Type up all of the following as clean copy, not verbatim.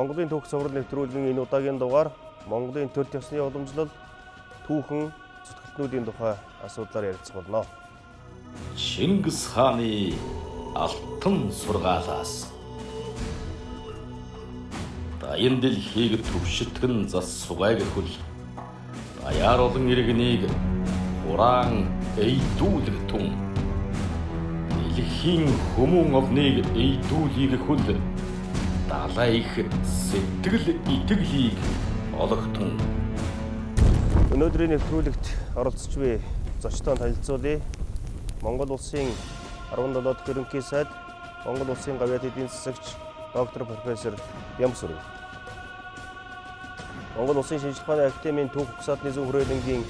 Монголын түүх сурвал нэвтрүүлгийн энэ удаагийн дугаар Монголын төр төсний уламжлал түүхэн зүтгэлтнүүдийн тухай асуудлаар ярилцах болно. Чингис хааны алтан сургаалаас даян дэлхийг төвшөлтгөн зас сугайг хөл даяар олон иргэнийг хураан эйдүүлэг тун дэлхийн хүмүүн овныг эйдүүлийг хөл далай их сэтгэл итгэлийг олготон. Өнөөдрийн нэвтрүүлэгт оролцож буй зочдоо танилцуулъя. Монгол улсын 17 дахь ерөнхий сайд, Монгол улсын гавьяат эдийн засагч доктор профессор Ямсүрв. Монгол улсын шинжлэх ухааны академийн түүх угсаатны зөв хүрээлэнгийн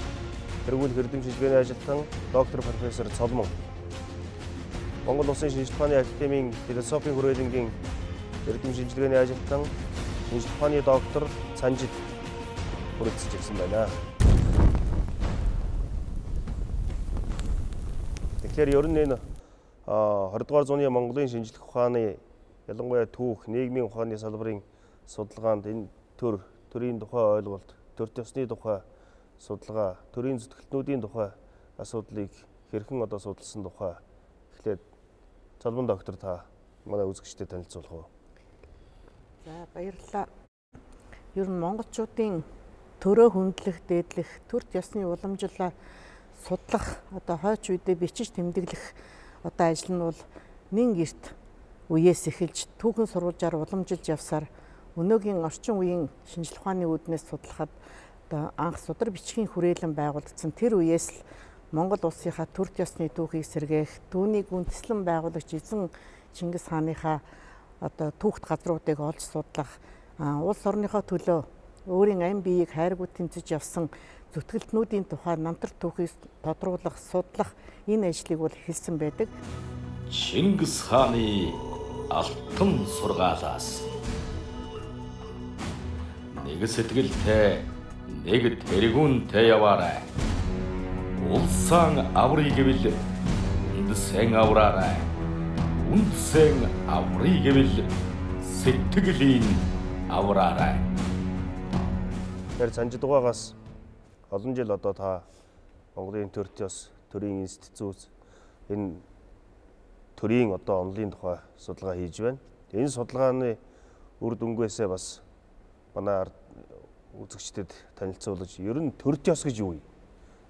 тэргүүл хэрдэм шилжгээний ажилтан доктор профессор Цолмон. Монгол улсын шинжлэх ухааны академийн философийн хүрээлэнгийн эрдэм шинжилгээний ажилтан шинжлэх ухааны доктор Цанжид хүрэлцэж ирсэн байна. Тэгэхээр ер нь энэ 20 дугаар зууны Монголын шинжлэх ухааны ялангуяа түүх, нийгмийн ухааны салбарын судалгаанд энэ төрийн тухай ойлголт, төр төсний тухай судалгаа, төрийн зүтгэлтнүүдийн тухай асуудлыг хэрхэн судалсан тухай эхлээд Цолмон доктор та манай үзэгчдэд танилцуулах уу? За баярлалаа. Ер нь монголчуудын төрөө хөндлөх, дээдлэх, төр ёсны уламжлалаа судлах, хойч үедээ бичиж тэмдэглэх ажил нь бол нэн эрт үеэс эхэлж түүхэн сурвалжаар уламжилж явсаар өнөөгийн орчин үеийн шинжлэх ухааны үүднээс судлахад анх судар бичгийн хүрээлэн байгуулагдсан тэр үеэс л Монгол улсынхаа төр ёсны түүхийг сэргээх, түүнийг үндэслэн байгуулагч эзэн Чингис хааныхаа түүхт газруудыг олж судлах, улс орныхоо төлөө өөрийн ам биеийг хайргүй тэмцэж явсан зүтгэлтнүүдийн тухай намтар түүхийг тодруулах, судлах энэ ажлыг бол эхэлсэн байдаг. Чингис хааны алтан сургаалаас нэг сэтгэлтэй, нэг тэргүүнтэй яваарай. Улсаан аврыг гэвэл үндсэн авраарай. Үндсэн аврыг гэвэл сэтгэлийн авраарай. Тэр Цанжидугаагаас олон жил та Монголын төр төс, төрийн институт энэ төрийн онолын тухай судалгаа хийж байна. Энэ судалгааны үр дүнгээс бас манай үзэгчдэд танилцуулж, ер нь төр төс гэж юу вэ?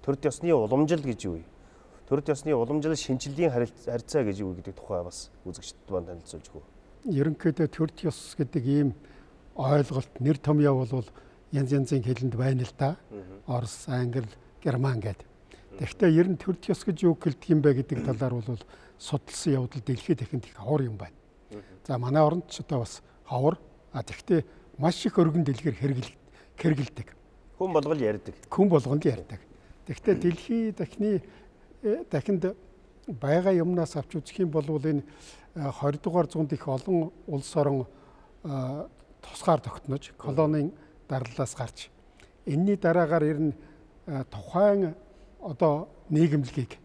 Төр төсний уламжлал гэж юу вэ? Төр төсний уламжлал шинжилгээний харьцаа гэж юу гэдэг тухай бас үзэгчдэд маань танилцуулж өгөө. Ерөнхийдөө төр төс гэдэг ийм ойлголт, нэр томьёо бол янз янзын хэлэнд байна л да. Орос, англи, герман гэдэг. Тэгэхдээ ер нь төр төс гэж юу гэлдэг юм бэ гэдэг талаар бол судалсан явдал дэлхийд дахинд их ховор юм байна. За манай оронд ч бас ховор. Тэгэхдээ маш их өргөн дэлгэр хэрэгэлдэг. Хүн болгол ярьдаг. Хүн болгонд ярьдаг. Тэгэхдээ дэлхий дахинд байгаа юмнаас авч үзэх юм бол энэ 20 дугаар зуунд их олон улс орон тусгаар тогтнож, колонийн дарлалаас гарч энэний дараагаар ер нь тухайн нийгэмлэгийг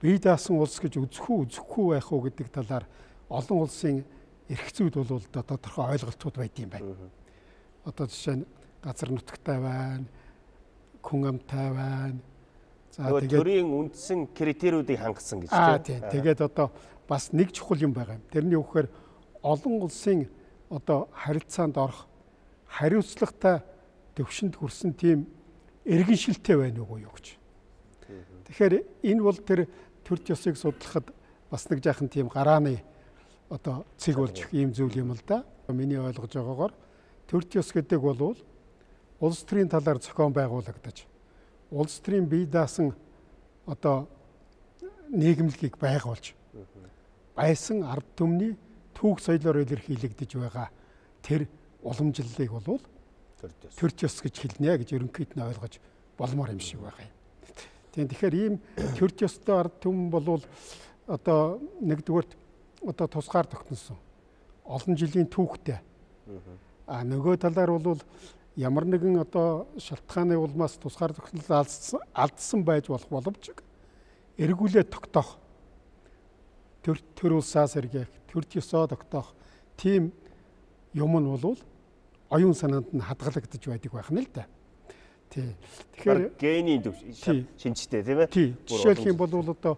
бие даасан улс гэж үзэхгүй байх уу гэдэг талаар олон улсын эрх зүйд бол тодорхой ойлголтууд байд юм байна. Жишээ нь газар нутагтай байна, хүн амтай байна. За тэгээд төрийн үндсэн критериудыг хангасан гэж тийм. Тэгээд бас нэг чухал юм байгаа юм. Тэрний үгээр олон улсын харилцаанд орох хариуцлагатай төвшөнд хүрсэн тийм иргэншилтэй байна уу юу гэж. Тэгэхээр энэ бол тэр төр төсийг судлахад бас нэг жаахан тийм гарааны цэг болж ийм зүйл юм л да. Миний ойлгож байгаагаар төр төс гэдэг бол улс төрийн талаар зохион байгуулагдаж, улс төрийн бие даасан нийгэмлэгийг байгуулж байсан ард түмний түүх соёлоор илэрхийлэгдэж байгаа тэр уламжлалыг бол төр төс гэж хэлнэ гэж ерөнхийд нь ойлгож болмоор юм шиг байгаа юм. Тэгэхээр ийм төр төстэй ард түмэн бол нэгдүгээрт тусгаар тогтносон олон жилийн түүхтэй. Нөгөө талаар бол ямар нэгэн шалтгааны улмаас тусгаар тогтнол алдсан байж болох боловч эргүүлээ тогтоох, төр улсаас эргээх, төр төсөө тогтоох тийм юм нь бол оюун санаанд нь хадгалагдаж байдаг байх нь л да. Тий. Тэгэхээр гений шинжтэй тийм ээ. Тий. Жишээлх юм бол одоо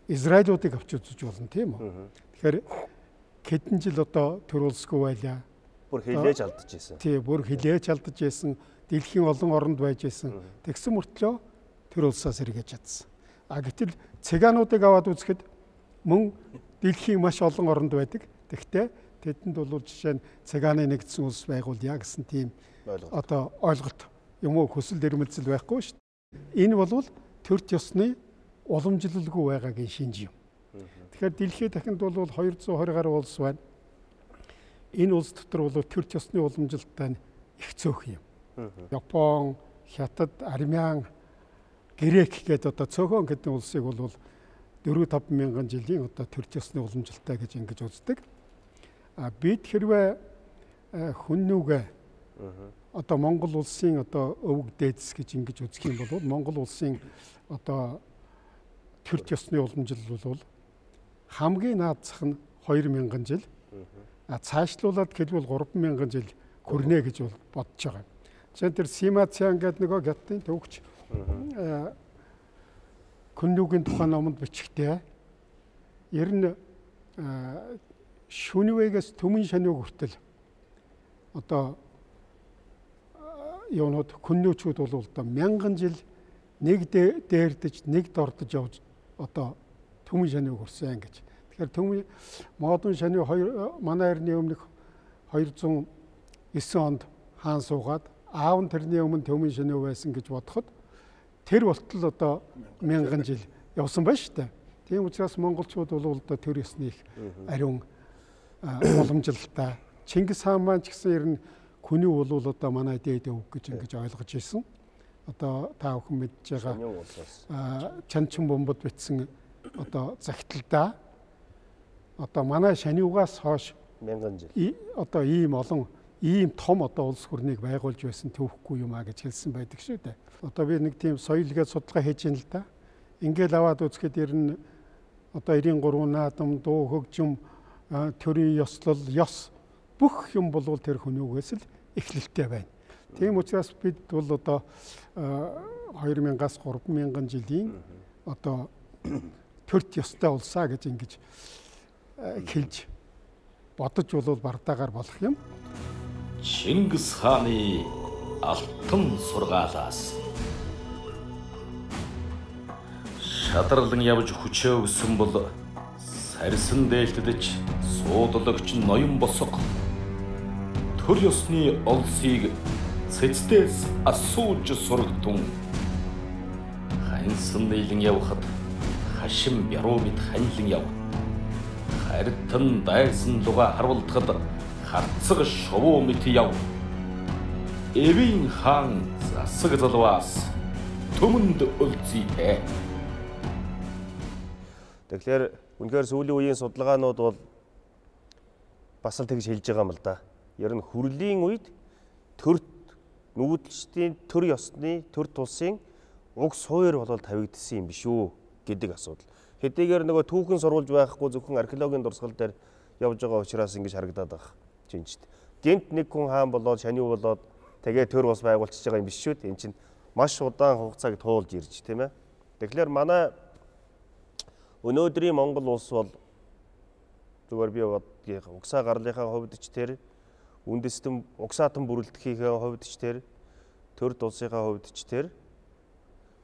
Израилуудыг авч үзэж болно тийм үү. Тэгэхээр хэдэн жил одоо төр улсгүй байлаа. Бүр хилээж алдаж байсан. Тий, бүр хилээж алдаж байсан. Дэлхийн олон оронд байж байсан. Тэгсэн мөртлөө төр улсаас эргэж чадсан. Гэтэл цыгаануудыг аваад үзэхэд мөн дэлхийн маш олон оронд байдаг. Тэгтээ тэдэнд бол жишээ нь цыгааны нэгдсэн улс байгуулъя гэсэн тийм одоо ойлголт юм уу хүсэл эрмэлзэл байхгүй шүү дээ. Энэ бол төрч ёсны уламжлалгүй байгаагийн шинж юм. Тэгэхээр дэлхийд дахинд бол 220 гаруй улс байна. Энэ улс дотор бол төрч ёсны уламжлалтай их цөөх юм. Япон, Хятад, Армян, Грек гэдэг одоо цөөхөн гэдэг улсыг бол 4-5 мянган жилийн одоо төрч ёсны уламжлалтай гэж ингэж үздэг. Бид хэрвээ хүннүүгээ одоо Монгол улсын одоо өвөг дээдс гэж ингэж үзэх юм бол Монгол улсын одоо төрч ёсны уламжлал бол хамгийн наад зах нь 2000 жил. Цаашлуулаад хэлбэл 3000 жил хүрнэ гэж бодож байгаа. Жишээ нь тэр Сима Цян гэдэг нөгөө Гятны төвөгч хүннүүгийн тухай номонд бичгтээ ер нь шүнвэгээс төмөн шаниуг хүртэл одоо юунууд хүннүүчүүд бол одоо 1000 жил нэг дээрдэж нэг дордож явж одоо төмөн шаниуг хүрсэн гэж. Тэгэхээр төмөн модон шаниу манай эртний өмнөх 209 онд хаан суугаад аав нь тэрний өмнө төмөн шаниу байсан гэж бодоход тэр болтол одоо 1000 жил явсан байна шүү дээ. Тийм учраас монголчууд бол одоо төр ёсны их ариун уламжлалтай. Чингис хаан маань ч гэсэн ер нь хүний бол одоо манай дээд өвөг гэж ингэж ойлгож ирсэн. Одоо та бүхэн мэдж байгаа чанчин бомбод бичсэн одоо загталдаа одоо манай шаниугаас хойш 1000 жил одоо ийм олон ийм том одоо улс хүрнийг байгуулж байсан төвхгүй юм а гэж хэлсэн байдаг шүү дээ. Одоо би нэг тийм соёлгээд судалгаа хийж байна л да. Ингээл аваад үзэхэд ер нь одоо 93 наадам, дуу, хөгжим, төрийн ёслол, ёс бүх юм бол тэр хүнүүгээс л эхлэлтэй байна. Тийм учраас бид бол одоо 2000-аас 3000 жилийн одоо төрт ёстой улсаа гэж ингэж хэлж бодож бол бардаагаар болох юм. Чингис хааны алтан сургаалаас шадралан явж хүчээ өгсөн бол сарсан дээлтдэж суудлагч ноён босго төр ёсны олсыг цэцдээс асууж сургатун ханьсан нийлэн явхад хашин бяруу мэд ханилан яв харитан дайсан луга харуулдахад харцаг шувуу мэт яв эвийн хаан засаг залваас төмөнд өлзийтэй. Тэгэхээр үнэхээр сүүлийн үеийн судалгаанууд бол бас л тэгж хэлж байгаа юм л да. Ер нь хүрлийн үед төрт нүүдэлчдийн төр ёсны төр тулсын уг суур болол тавигдсан юм биш үү гэдэг асуудал. Хэдийгээр нөгөө түүхэн сурвалж байхгүй зөвхөн археологийн дурсгал дээр явж байгаа учраас ингэж харагдаад байгаа жинчт. Гэнт нэг хүн хаан болоод шаниу болоод тэгээ төр ус байгуулчихж байгаа юм биш шүү дээ. Энд чинь маш удаан хугацааг туулж ирж тийм ээ. Тэгэхээр манай өнөөдрийн Монгол улс бол зүгээр би угсаа гарлынхаа хувьд ч тэр үндэстэн угсаатан бүрэлдэхийнхээ хувьд ч тэр төр улсынхаа хувьд ч тэр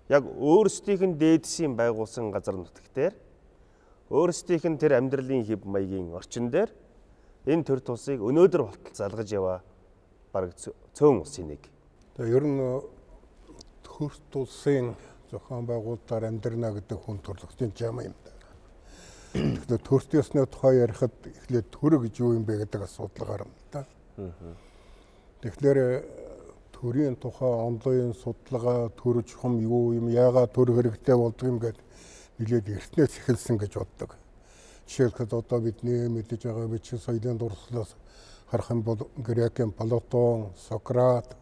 яг өөрсдийнх нь дээдсийн байгуулсан газар нутаг дээр өөрсдийнх нь тэр амьдралын хэв маягийн орчин дээр энэ төр тулсыг өнөөдөр болтол залгаж яваа бараг цөөн улсын нэг. Тэгээ ер нь төр тулсын зохион байгуулалтаар амьдрна гэдэг хүн төрөлхтөн жам юм да. Тэгэхээр төрт ёсны тухай ярихад эхлээд төр гэж юу юм бэ гэдэг асуудал гарна да. Тэгэхээр төрийн тухай онлайн судалгаа төр чухам юу юм яагаад төр хэрэгтэй болдго юм гэдэг нэлээд эртнээс эхэлсэн гэж боддог. Жишээлбэл одоо бидний мэдэж байгаа бичиг соёлын дурслаас харах юм бол Грекийн Платон, Сократ,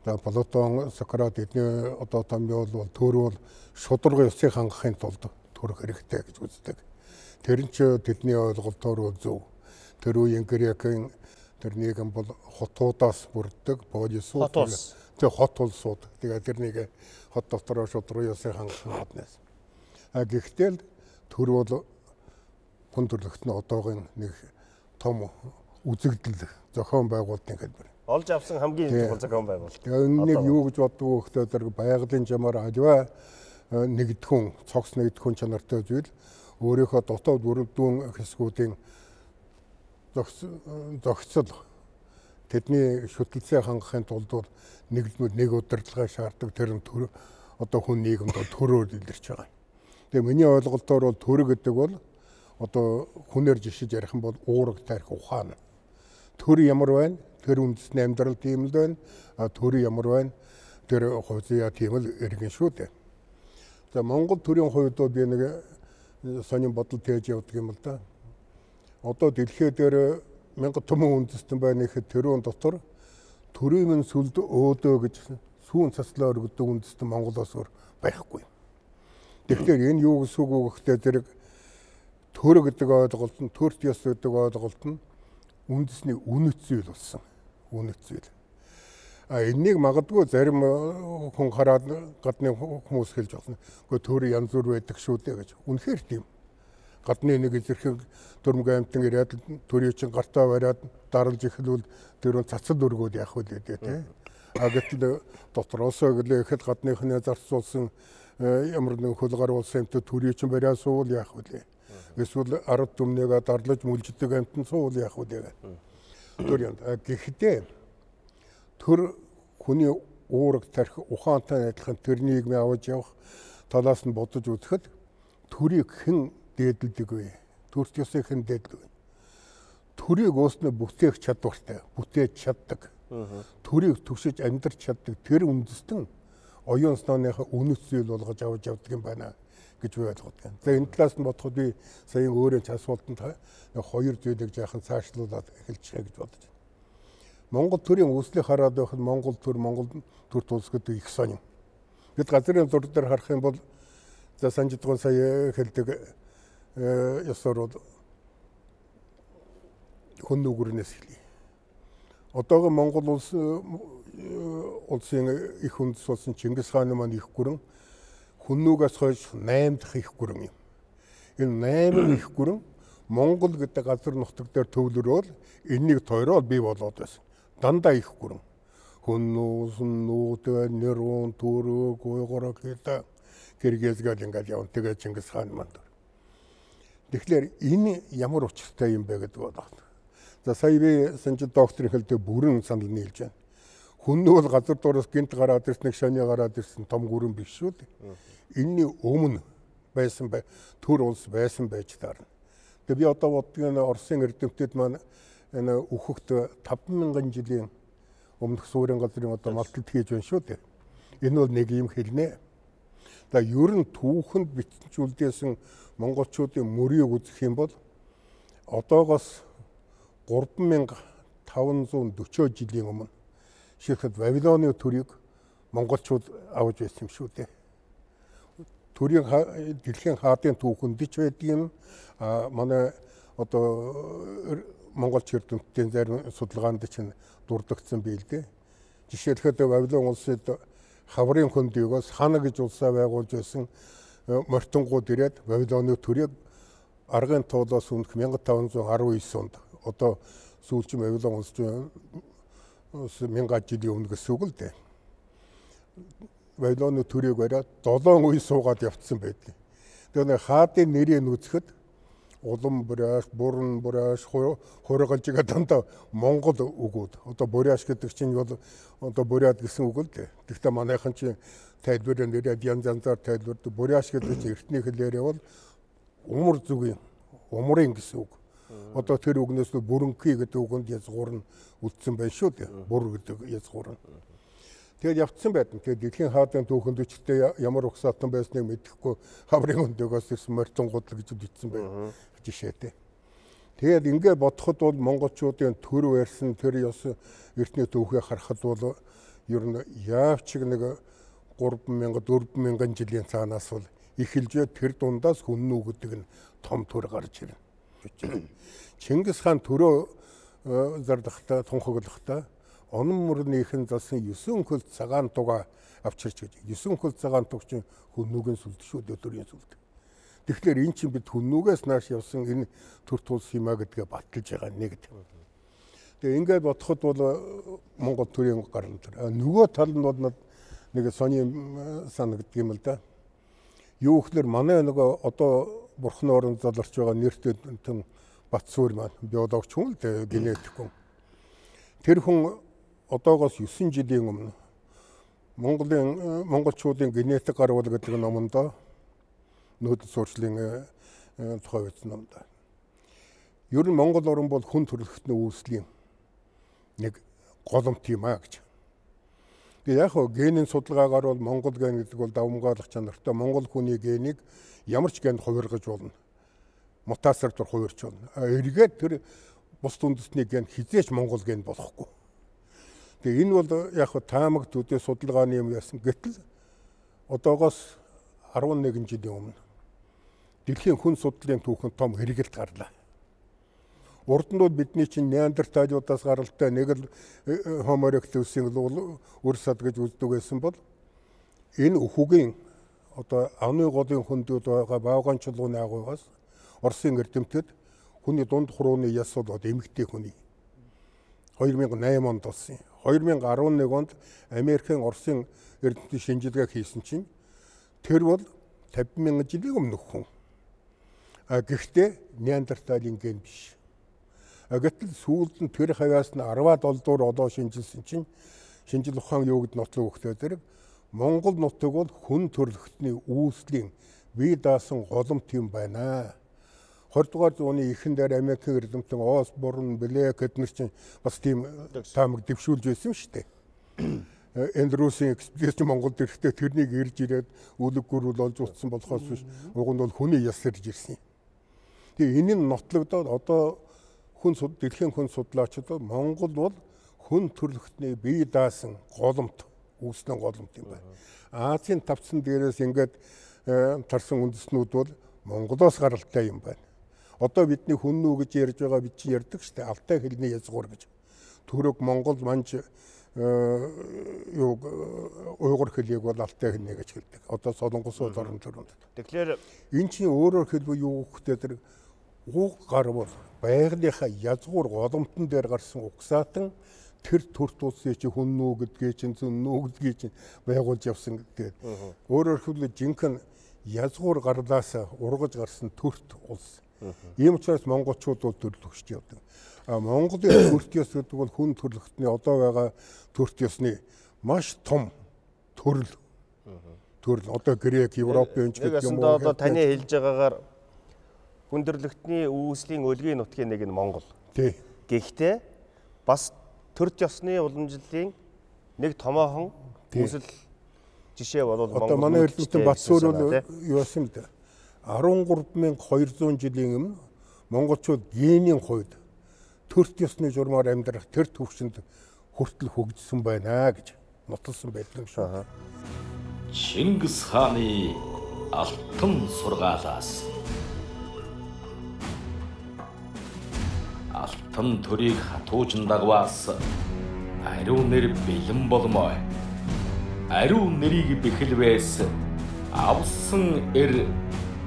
Сократ эдний одоо томьёол бол төр бол шударга ёсыг хангахын тулд төр хэрэгтэй гэж үздэг. Тэр нь ч тэдний ойлголтоор зөв. Тэр үеийн Грекийн Тэр нийгэм бол хотуудаас бүрддэг полисууд. Тэр хот улсууд. Тэгээд тэр нэг хот дотороо шууд руу ясын хангах гаднаас. Гэхдээ төр бол хүн төрлөختний одоогийн нэг том үзэгдэл зохион байгуулалтын хэлбэр. Олж авсан хамгийн чухал зохион байгуулалт. Тэгээд нэг юу гэж боддог вэ гэхээр байгалийн жамаар аливаа нэгдэхүүн, цогц нэгдэхүүн чанартай зүйл өөрийнхөө дотоод бүрдүүн хэсгүүдийн зохицол тэдний шүтгэлцээ хангахын тулд нэг удирдлагаа шаарддаг тэр нь одоо хүн нийгэмд төрөөр илэрч байгаа. Тэгээ миний ойлголтоор бол төр гэдэг бол одоо хүнээр жишиж ярих юм бол уураг тарих ухаан. Төр ямар байна? Тэр үндэсний амьдрал тийм л байна. Төр ямар байна? Тэр хувьцаа тийм л иргэн шүү дээ. За Монгол төрийн хувьд би нэг сонин бодол тээж явдаг юм л да. Одоо дэлхий дээр 1000 түмэн үндэстэн байна гэхэд тэрүүн дотор төрийн минь сүлд өөдөө гэж сүүн цаслаа өргөдөг үндэстэн Монголоос өөр байхгүй. Тэгэхээр энэ юу гэсэн үг вэ гэхдээ зэрэг төр гэдэг ойлголт нь, төрт ёс гэдэг ойлголт нь үндэсний үнэт зүйл болсон. Үнэт зүйл. Энийг магадгүй зарим хүн хараад гадны хүмүүс хэлж болно. Гэхдээ төр янз бүр байдаг шүү дээ гэж. Үнэхээр тийм. Гадны нэг зэрэг Дөрмөг аймтан ирээд төрийн чинь гартаа бариад даралж эхлүүл тэр цацад өргөөд явах үлээ тий. Гэтэл дотроосоо гэлээхэд гадныхны зарцуулсан ямар нэг хөл гар улсын амт төрийн чинь бариад суул явах үлээ. Эсвэл ард түмнийгээ дарлаж мүлждэг амтан суул явах үлээ. Төрийн гэхдээ төр хүний уураг тарих ухаантай адилхан тэр нийгмийн аваж явах талаас нь бодож үзэхэд төрийг хэн дээдэлдэг вэ? Төрт ёсыг хэн дээдэлдэг вэ? Төрийг уусна бүтээх чадвартай, бүтээж чаддаг. Төрийг түгшиж амьдарч чаддаг тэр үндэстэн оюун санааныхаа үнэт зүйл болгож авч явдаг юм байна гэж би ойлгодог. За энэ талаас нь бодоход би сая өөрөө ч асуултанд хоёр зүйлийг жаахан цаашлуулад эхэлчихье гэж бодож байна. Монгол төрийн үүслийг хараад байхад Монгол төр тулс гэдэг их сонин. Бид газрын зур дээр харах юм бол за санжидгон сая хэлдэг ёсоор хүн нүгэрнээс хэлье. Одоогийн Монгол улсын их үндэс болсон Чингис хааны маань их гүрэн хүн нүгээс хойш 8 дахь их гүрэн юм. Энэ 8 их гүрэн Монгол гэдэг газар нутаг дээр төвлөрөөл энэнийг тойроод бий болоод байсан. Дандаа их гүрэн. Хүн нуус, нүүдэ, нэрүүн, түрэг, уйгураг гэдэг Киргизгээд ингээд явна. Тэгээд Чингис хаан маань. Тэгэхээр энэ ямар учиртай юм бэ гэдэг байна. За сая би санжид докторийн хэлдэг бүрэн санал нийлж байна. Хүн нь бол газар дуураас гинт гараад ирсэн, шаны гараад ирсэн том гүрэн биш шүү дээ. Энэний өмнө байсан төр улс байсан байж таарна. Тэгээ би одоо бодгийн Оросын эрдэмтэд маань энэ өөхөгт 5000 жилийн өмнөх суурин газрын одоо малталт хийж байна шүү дээ. Энэ бол нэг юм хэлнэ. За ер нь түүхэнд бичүүлдээсэн монголчуудын мөрийг үзэх юм бол одоогоос 3540 жилийн өмнө шийхэд Вавилоны төрийг монголчууд авч байсан юм шүү дээ. Төрийн дэлхийн хаадын түүхэнд ч байдаг юм. Манай одоо монголч эрдэмтдийн зарим судалгаанд чинь дурддагдсан бийл дээ. Жишээлбэл Вавилон улсад хаврын хөндийгөөс хана гэж улсаа байгуулж байсан мортонгууд ирээд Вавилоны төрийг аргын туулаас өмнөх 1519 онд одоо сүүлчийн Вавилон улс 1000 жилийн өмнө гэсэн үг л дээ. Вавилоны төрийг бариад 7 үе суугаад явцсан байдаг. Тэгээ хаадын нэрийг үзэхэд улам буряаш, буран буряаш, хургалжига дандаа Монгол үгүүд. Одоо буряаш гэдэг чинь бол одоо буряад гэсэн үг л дээ. Гэхдээ манайхан чинь тайлбараар нэрээд янзаар тайлбардаг. Буряаш гэдэг чинь эртний хэлээр бол умар зүгийн, умрын гэсэн үг. Одоо тэр үгнээс бүрэнхий гэдэг үгэнд язгуур нь үлдсэн байна шүү дээ. Бур гэдэг язгуур нь. Тэгээд явцсан байдаг. Тэгээд дэлхийн хаадын түүхэнд өчтдээ ямар угсаатан байсныг мэдэхгүй хаврын өндөгөөс ирсэн морьтонгууд л гэж бичсэн байна. Жишээтэй. Тэгээд ингээд бодоход бол монголчуудын төр барьсан тэр ёс эртний түүхийг харахад бол ер нь яавч нэг 3000 4000 жилийн цаанаас бол эхэлж тэр дундаас хүннүү гэдэг нь том төр гарч ирнэ. Чингис хаан төрөө зардахта тунхаглахта онон мөрнийхэн залсан 9 хөл цагаан туга авчирч гэж 9 хөл цагаан туг чинь хүннүүгэн сүлд шүү өдрийн сүлд. Тэгэхээр эн чинь бид хүннүүгээс нааш явсан энэ төр тулс юмаа гэдгээ баталж байгаа нэг. Тэгээ ингээд бодоход бол Монгол төрийн гарал дээр нөгөө тал нь бол нэг сони санагддаг юм л да. Юу гэхээр манай нөгөө одоо бурхны орон заларч байгаа нэртэй тэн Батсуур маань биологч хүн л дээ, генетик хүн. Тэр хүн одоогоос 9 жилийн өмнө монголчуудын генетик гарвал гэдэг номонд нөөц суурьшлын тухай бичсэн номд. Ер нь Монгол орн бол хүн төрөлхтний үүслийн нэг голомт юм аа гэж. Тэгээ яг хөө генийн судалгаагаар бол Монгол ген гэдэг бол давмгаалах чанартай Монгол хүний генийг ямар ч генд хувиргаж болно. Мутацаар хувирч болно. Эргээд тэр бус үндэсний ген хизээч Монгол ген болохгүй. Тэгээ энэ бол яг хөө таамаг төдий судалгааны юм яасан. Гэтэл одоогоос 11 жилийн өмнө дэлхийн хүн судлалын түүхэнд том хэрэгэлт гарлаа. Урд нь бол бидний чинь неандерталиудаас гаралтай нэг л Homo erectus-ийн үр сад гэж үздэг байсан бол энэ өхөгийн одоо аны голын хүндүүд байгаа баавган чулууны агуугаас Оросын эрдэмтэд хүний дунд хурууны яс бол эмэгтэй хүний 2008 онд болсон. 2011 онд Америкийн Оросын эрдэмтдийн шинжилгээ хийсэн чинь тэр бол 50,000 жилийн өмнөх хүн. Гэхдээ неандерталийн ген биш. Гэтэл сүүлд нь тэр хавьяас нь 10-аад олдуур одоо шинжилсэн чинь шинжил ухаан юу гэд нотлог өгөхтэй зэрэг Монгол нутаг бол хүн төрөлхтний үүслийн бие даасан голомт юм байна. 20 дугаар зууны эхэн дээр Америкийн эрдэмтэн Осборн, Блэк эднэр чинь бас тийм таамаг дэвшүүлж байсан шүү дээ. Эндрюсийн экспедицийн Монголд ирэхдээ тэрнийг ирж ирээд үлэг гүрүүл олж утсан болохоос биш уг нь бол хүний яс ирж ирсэн. Тэгээ энэ нь нотлогдоод одоо дэлхийн хүн судлаачид Монгол бол хүн төрөлхтний бие даасан голомт үүснэ голомт юм байна. Азийн тавцсан дээрээс ингээд тарсан үндэснүүд бол Монголоос гаралтай юм байна. Одоо бидний хүннүү гэж ярьж байгаа бид чинь ярьдаг шүү дээ. Алтай хэлний язгуур гэж. Түрэг Монгол манж уйгур хэлийг бол алтай хэлнэ гэж хэлдэг. Одоо солонгосууд орон төрөнд. Тэгэхээр эн чинь өөрөөр хэлбэл юу гэхтэй тэр уг гар бол байгалийнхаа язгуур голомтон дээр гарсан угсаатан тэр төрт улсын чи хүннүү гэдгээ чинь зүннүү гэдгийг чинь байгуулж явсан гэдэг. Өөрөөр хэлбэл жинхэнэ язгуур гарлаас ургаж гарсан төрт улс. Ийм учраас монголчууд бол төрөл өгч явдаг. Монголын төрт ёс гэдэг бол хүн төрөлхтний одоо байгаа төрт ёсны маш том төрөл. Төрөл одоо Грек, Европын гэдэг юм уу? Одоо таны хэлж байгаагаар хүн төрөлхтний үүслийн өлгийн нутгийн нэг нь Монгол. Тий. Гэхдээ бас төрт ёсны уламжлалын нэг томоохон үүсэл жишээ бол Монгол. Одоо манай эрдэмтэн Батсуур бол юу байсан бэ? 13,200 жилийн өмнө монголчууд генийн хувьд төрт ёсны журмаар амьдрах тэр төвшөнд хүртэл хөгжсөн байна гэж нотолсон байдаг юм шүү. Чингис хааны алтан сургаалаас алтан төрийг хатуужин дагваас ариун нэр бэлэн болмой. Ариун нэрийг бэхэлвээс авсан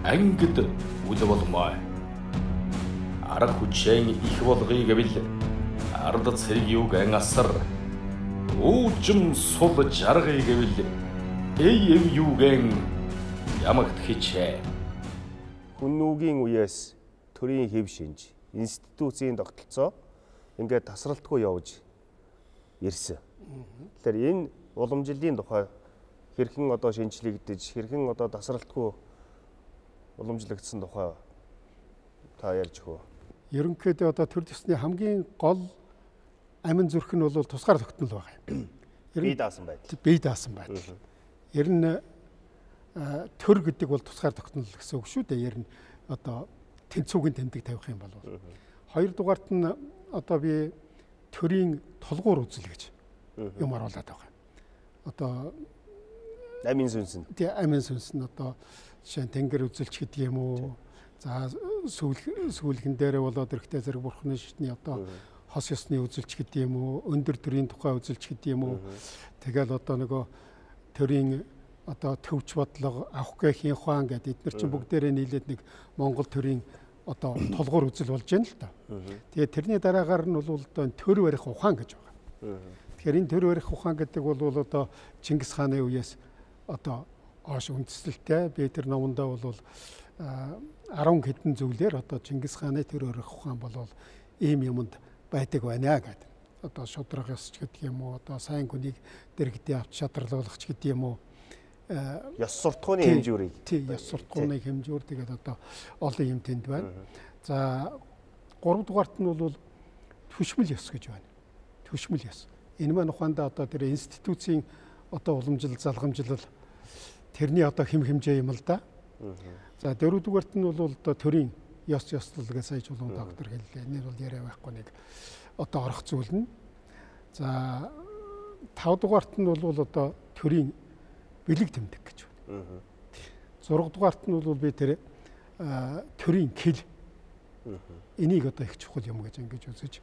ангид үл болмой. Арга хүчэн их болгоё гэвэл ард цэрэг юугэн асар уужим сул жаргая гэвэл эв юугэн ямагт хичээ. Хүннүүгийн үеэс төрийн хэв шинж институцийн тогтолцоо ингээд тасралтгүй явж ирсэн. Тэгэхээр энэ уламжлалын тухай хэрхэн одоо шинжлэгдэж, хэрхэн одоо тасралтгүй уламжлагдсан тухай та ярьж өгөө. Ерөнхийдөө одоо төр төсний хамгийн гол амин зүрх нь бол тусгаар тогтнол байгаа юм. Бие даасан байдал. Бие даасан байдал. Ер нь төр гэдэг бол тусгаар тогтнол гэсэн үг шүү дээ. Ер нь одоо тэнцвүүгийн тэмдэг тавих юм бол. Хоёрдугаарт нь одоо би төрийн толгуур үзэл гэж юм оруулаад байгаа. Одоо амин сүнс нь. Тий, амин сүнс нь одоо жишээ нь тэнгэр үзэлч гэдэг юм уу. За сүүлгэн дээрээ болоод эрэхтэй зэрэг бурхны шитний одоо хос ёсны үзэлч гэдэг юм уу, өндөр төрийн тухай үзэлч гэдэг юм уу. Тэгэл одоо нөгөө төрийн одоо төвч бодлого, авах гэхийн ухаан гэдэг эдгээр чинь бүгдээрээ нийлээд нэг Монгол төрийн одоо толгуур үзэл болж байна л да. Тэгээд тэрний дараагаар нь бол одоо төр барих ухаан гэж байгаа. Тэгэхээр энэ төр барих ухаан гэдэг бол одоо Чингис хааны үеэс одоо оош үндэслэлтэй. Би тэр номондоо бол 10 хэдэн зүйлээр одоо Чингис хааны төр барих ухаан бол ийм юмд байдаг байна гэдэг. Одоо шудраг ёсч гэдэг юм уу, одоо сайн хүнийг дэргэдээ авч шадралгах гэдэг юм уу. Ёс суртахууны хэмжүүрийг. Тийм, ёс суртахууны хэмжүүр тэгээд одоо олон юм тэнд байна. За 3 дугаарт нь бол түшмэл ёс гэж байна. Түшмэл ёс. Энэ маань ухаандаа одоо тэр институцийн одоо уламжлал, залгамжлал тэрний одоо хэм хэмжээ юм л да. За 4 дугаарт нь бол одоо төрийн ёс ёслолгээ сая чулуун доктор хэллээ. Энэ бол яриа байхгүй нэг одоо орох зүйл нь. За 5 дугаарт нь бол одоо төрийн бэлэг тэмдэг гэж байна. 6 дугаарт нь бол би тэр төрийн кил энийг одоо их чухал юм гэж ингэж үзэж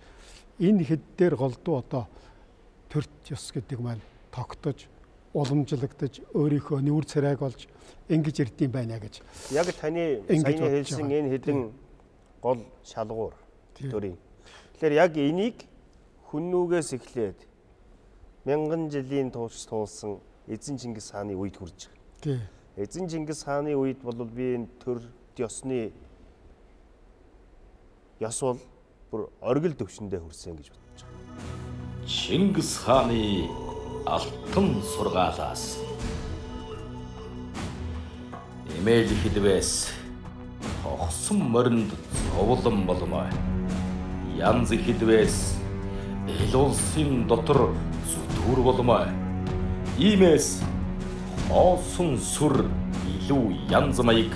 энэ хэд дээр голдуу одоо төрт ёс гэдэг маань тогтож уламжлагдаж өөрийнхөө нүүр царайг олж ингэж ирдэм байна гэж. Яг таны саяны хэлсэн энэ хэдэн гол шалгуур төрийн. Тэгэхээр яг энийг хүннүүгээс эхлээд мянган жилийн турш туулсан Эзэн Чингис хааны үед хүрж байгаа. Эзэн Чингис хааны үед бол би энэ төр ёсны ёс бол бүр оргил төвшөндөө хүрсэн гэж бодож байгаа. Чингис хааны алтан сургаалаас эмээл хэлбэс тогсон моринд зовлон болмоо. Янз хэлбэс эл улсын дотор зүтгүр болмоо. Иймээс хоосон сүр илүү янз маяг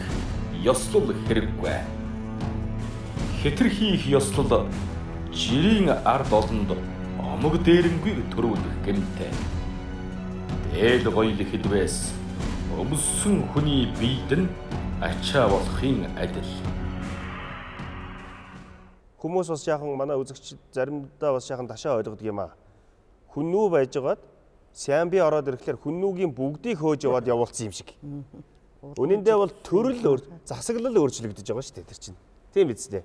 ёслол хэрэггүй. Хэтэрхийх ёслол жирийн ард олонд омог дээрэнгүй төрүүлэх гэмтэй. Дээл гоёл хэлбэс өмссөн хүний биед нь ачаа болохын адил. Хүмүүс бас яахан манай үзэгч заримдаа бас яахан ташаа ойлгодог юм аа. Хүннүү байжгаад Сямби ороод ирэхлээр хүннүүгийн бүгдийг хөөж яваад явуулсан юм шиг. Үнэндээ бол төрөл засаглал өөрчлөгдөж байгаа шүү дээ тэр чинь. Тийм биз дээ.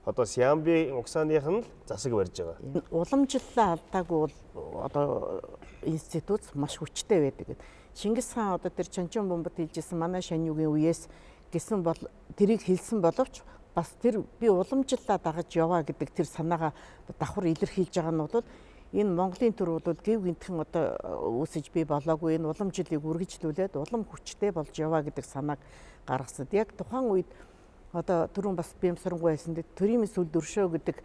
Одоо Сямби угсааных нь л засаг барьж байгаа. Уламжлалаа алдаагүй бол одоо институт маш хүчтэй байдаг. Чингис хаан одоо тэр Чанчин бомбод хэлжсэн манай шаньюгийн үеэс гэсэн бол тэрийг хэлсэн боловч бас тэр би уламжлалаа дагаж яваа гэдэг тэр санаагаа давхар илэрхийлж байгаа нь бол энэ Монголын төр бол гэв гинтхэн одоо үүсэж бий болоогүй энэ уламжлалыг үргэлжлүүлээд улам хүчтэй болж яваа гэдэг санааг гаргасан. Яг тухайн үед одоо түрүүн бас Бямсарангуй хэлсэн дээ төрийн сүлд өршөө гэдэг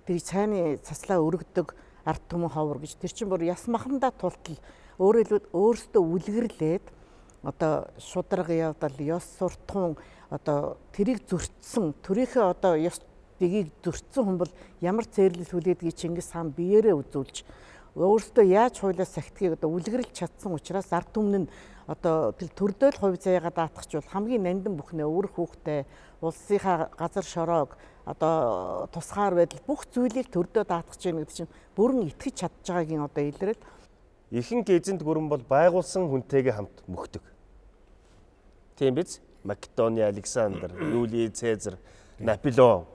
тэр цайны цаслаа өргөдөг ард түмэн ховор гэж тэр чинь бүр яс махандаа тултал өөрөөсөө үлгэрлээд одоо шудраг явдал ёс суртахуун одоо тэрийг зөрчсөн төрийнхөө одоо ёс дэгийг зөрчсөн хүн бол ямар цээрлэл хүлээдгийг Чингис хаан биеэрээ үзүүлж өөрөөсөө яаж хуулиас сахидгийг одоо үлгэрлж чадсан учраас ард түмэн нь одоо тэр төрдөөл хувь заяагаа даатгах бол хамгийн нандин бүхнээ өвөр хүүхдээ улсынхаа газар шороог одоо тусгаар байдал бүх зүйлийг төрдөө даатгах чинь гэдэг чинь бүрэн итгэж чадж байгаагийн одоо илрэл. Ихэнх эзэнт гүрэн бол байгуулсан хүнтэйгээ хамт мөхдөг. Тийм биз? Македоны Александр, Юлий Цезар, Наполеон.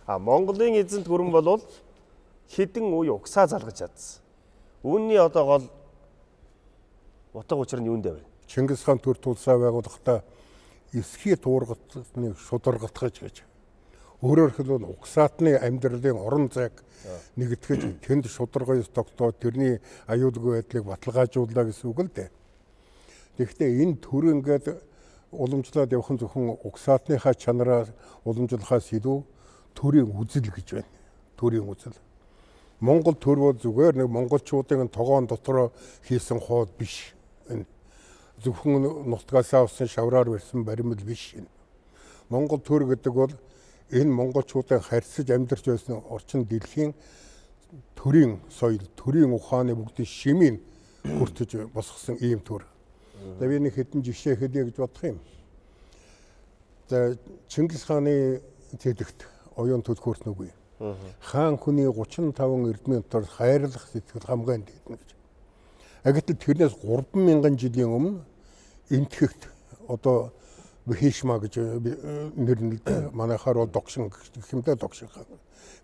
Монголын эзэнт гүрэн бол хэдэн үе угсаа залгаж чадсан. Үүний одоо гол утга учир нь юунд вэ? Чингис хаан төр тулсаа байгуулахдаа эсхий туургатныг шударгатгаж гэж. Өөрөөр хэлбэл угсаатны амьдралын орон зайг нэгтгэж тэнд шударгоёс тогтоод тэрний аюулгүй байдлыг баталгаажууллаа гэсэн үг л дээ. Тэгэхдээ энэ төр ингээд уламжлаад явах нь зөвхөн угсаатныхаа чанараа уламжлахаас илүү төрийн үзэл гэж байна. Төрийн үзэл. Монгол төр бол зүгээр нэг монголчуудын тогоон дотроо хийсэн хоод биш. Энэ зөвхөн нутгасаа авсан шавраар барьсан баримл биш. Монгол төр гэдэг бол энэ монголчуудын харьцаж амьдарч байсан орчин дэлхийн төрийн соёл, төрийн ухааны бүгдийн шимийг хүртэж босгосон ийм төр. За би нэг хэдэн жишээ хэлье гэж бодох юм. За Чингис хааны тэдэгт оюун төлхөөрт нүгүй. Хаан хүний 35 эрдмийн дотор хайрлах сэтгэл хамгаан дийднэ гэж. Гэтэл тэрнээс 3000 жилийн өмнө энтхэгт одоо Бхишма гэж нэрлэдэг. Манайхаар бол догшин гэх юмдаа догшин хаан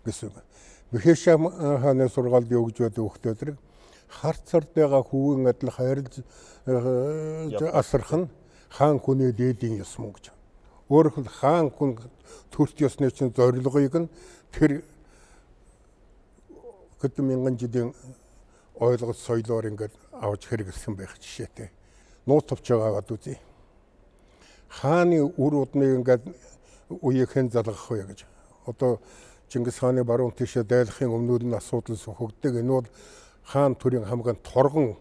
гэсэн. Бхишма хааны сургаалд өгж байдаг хүүхдүүд харцард байгаа хүүгийн адил хайрлж асрах нь хаан хүний дээдийн ёс мөн гэж. Өөрөөр хэл хаан хүн төрт ёсны чинь зорилгыг нь тэр хэдэн мянган жилийн ойлголт соёлоор ингээд авч хэрэглэсэн байх жишээтэй. Нууц товч байгаагаад үзье. Хааны үр удмыг ингээд үеийнхэн залгах вэ гэж. Одоо Чингис хааны баруун тишээ дайлахын өмнөд нь асуудал сөхөгдөг. Энэ бол хаан төрийн хамгийн торгон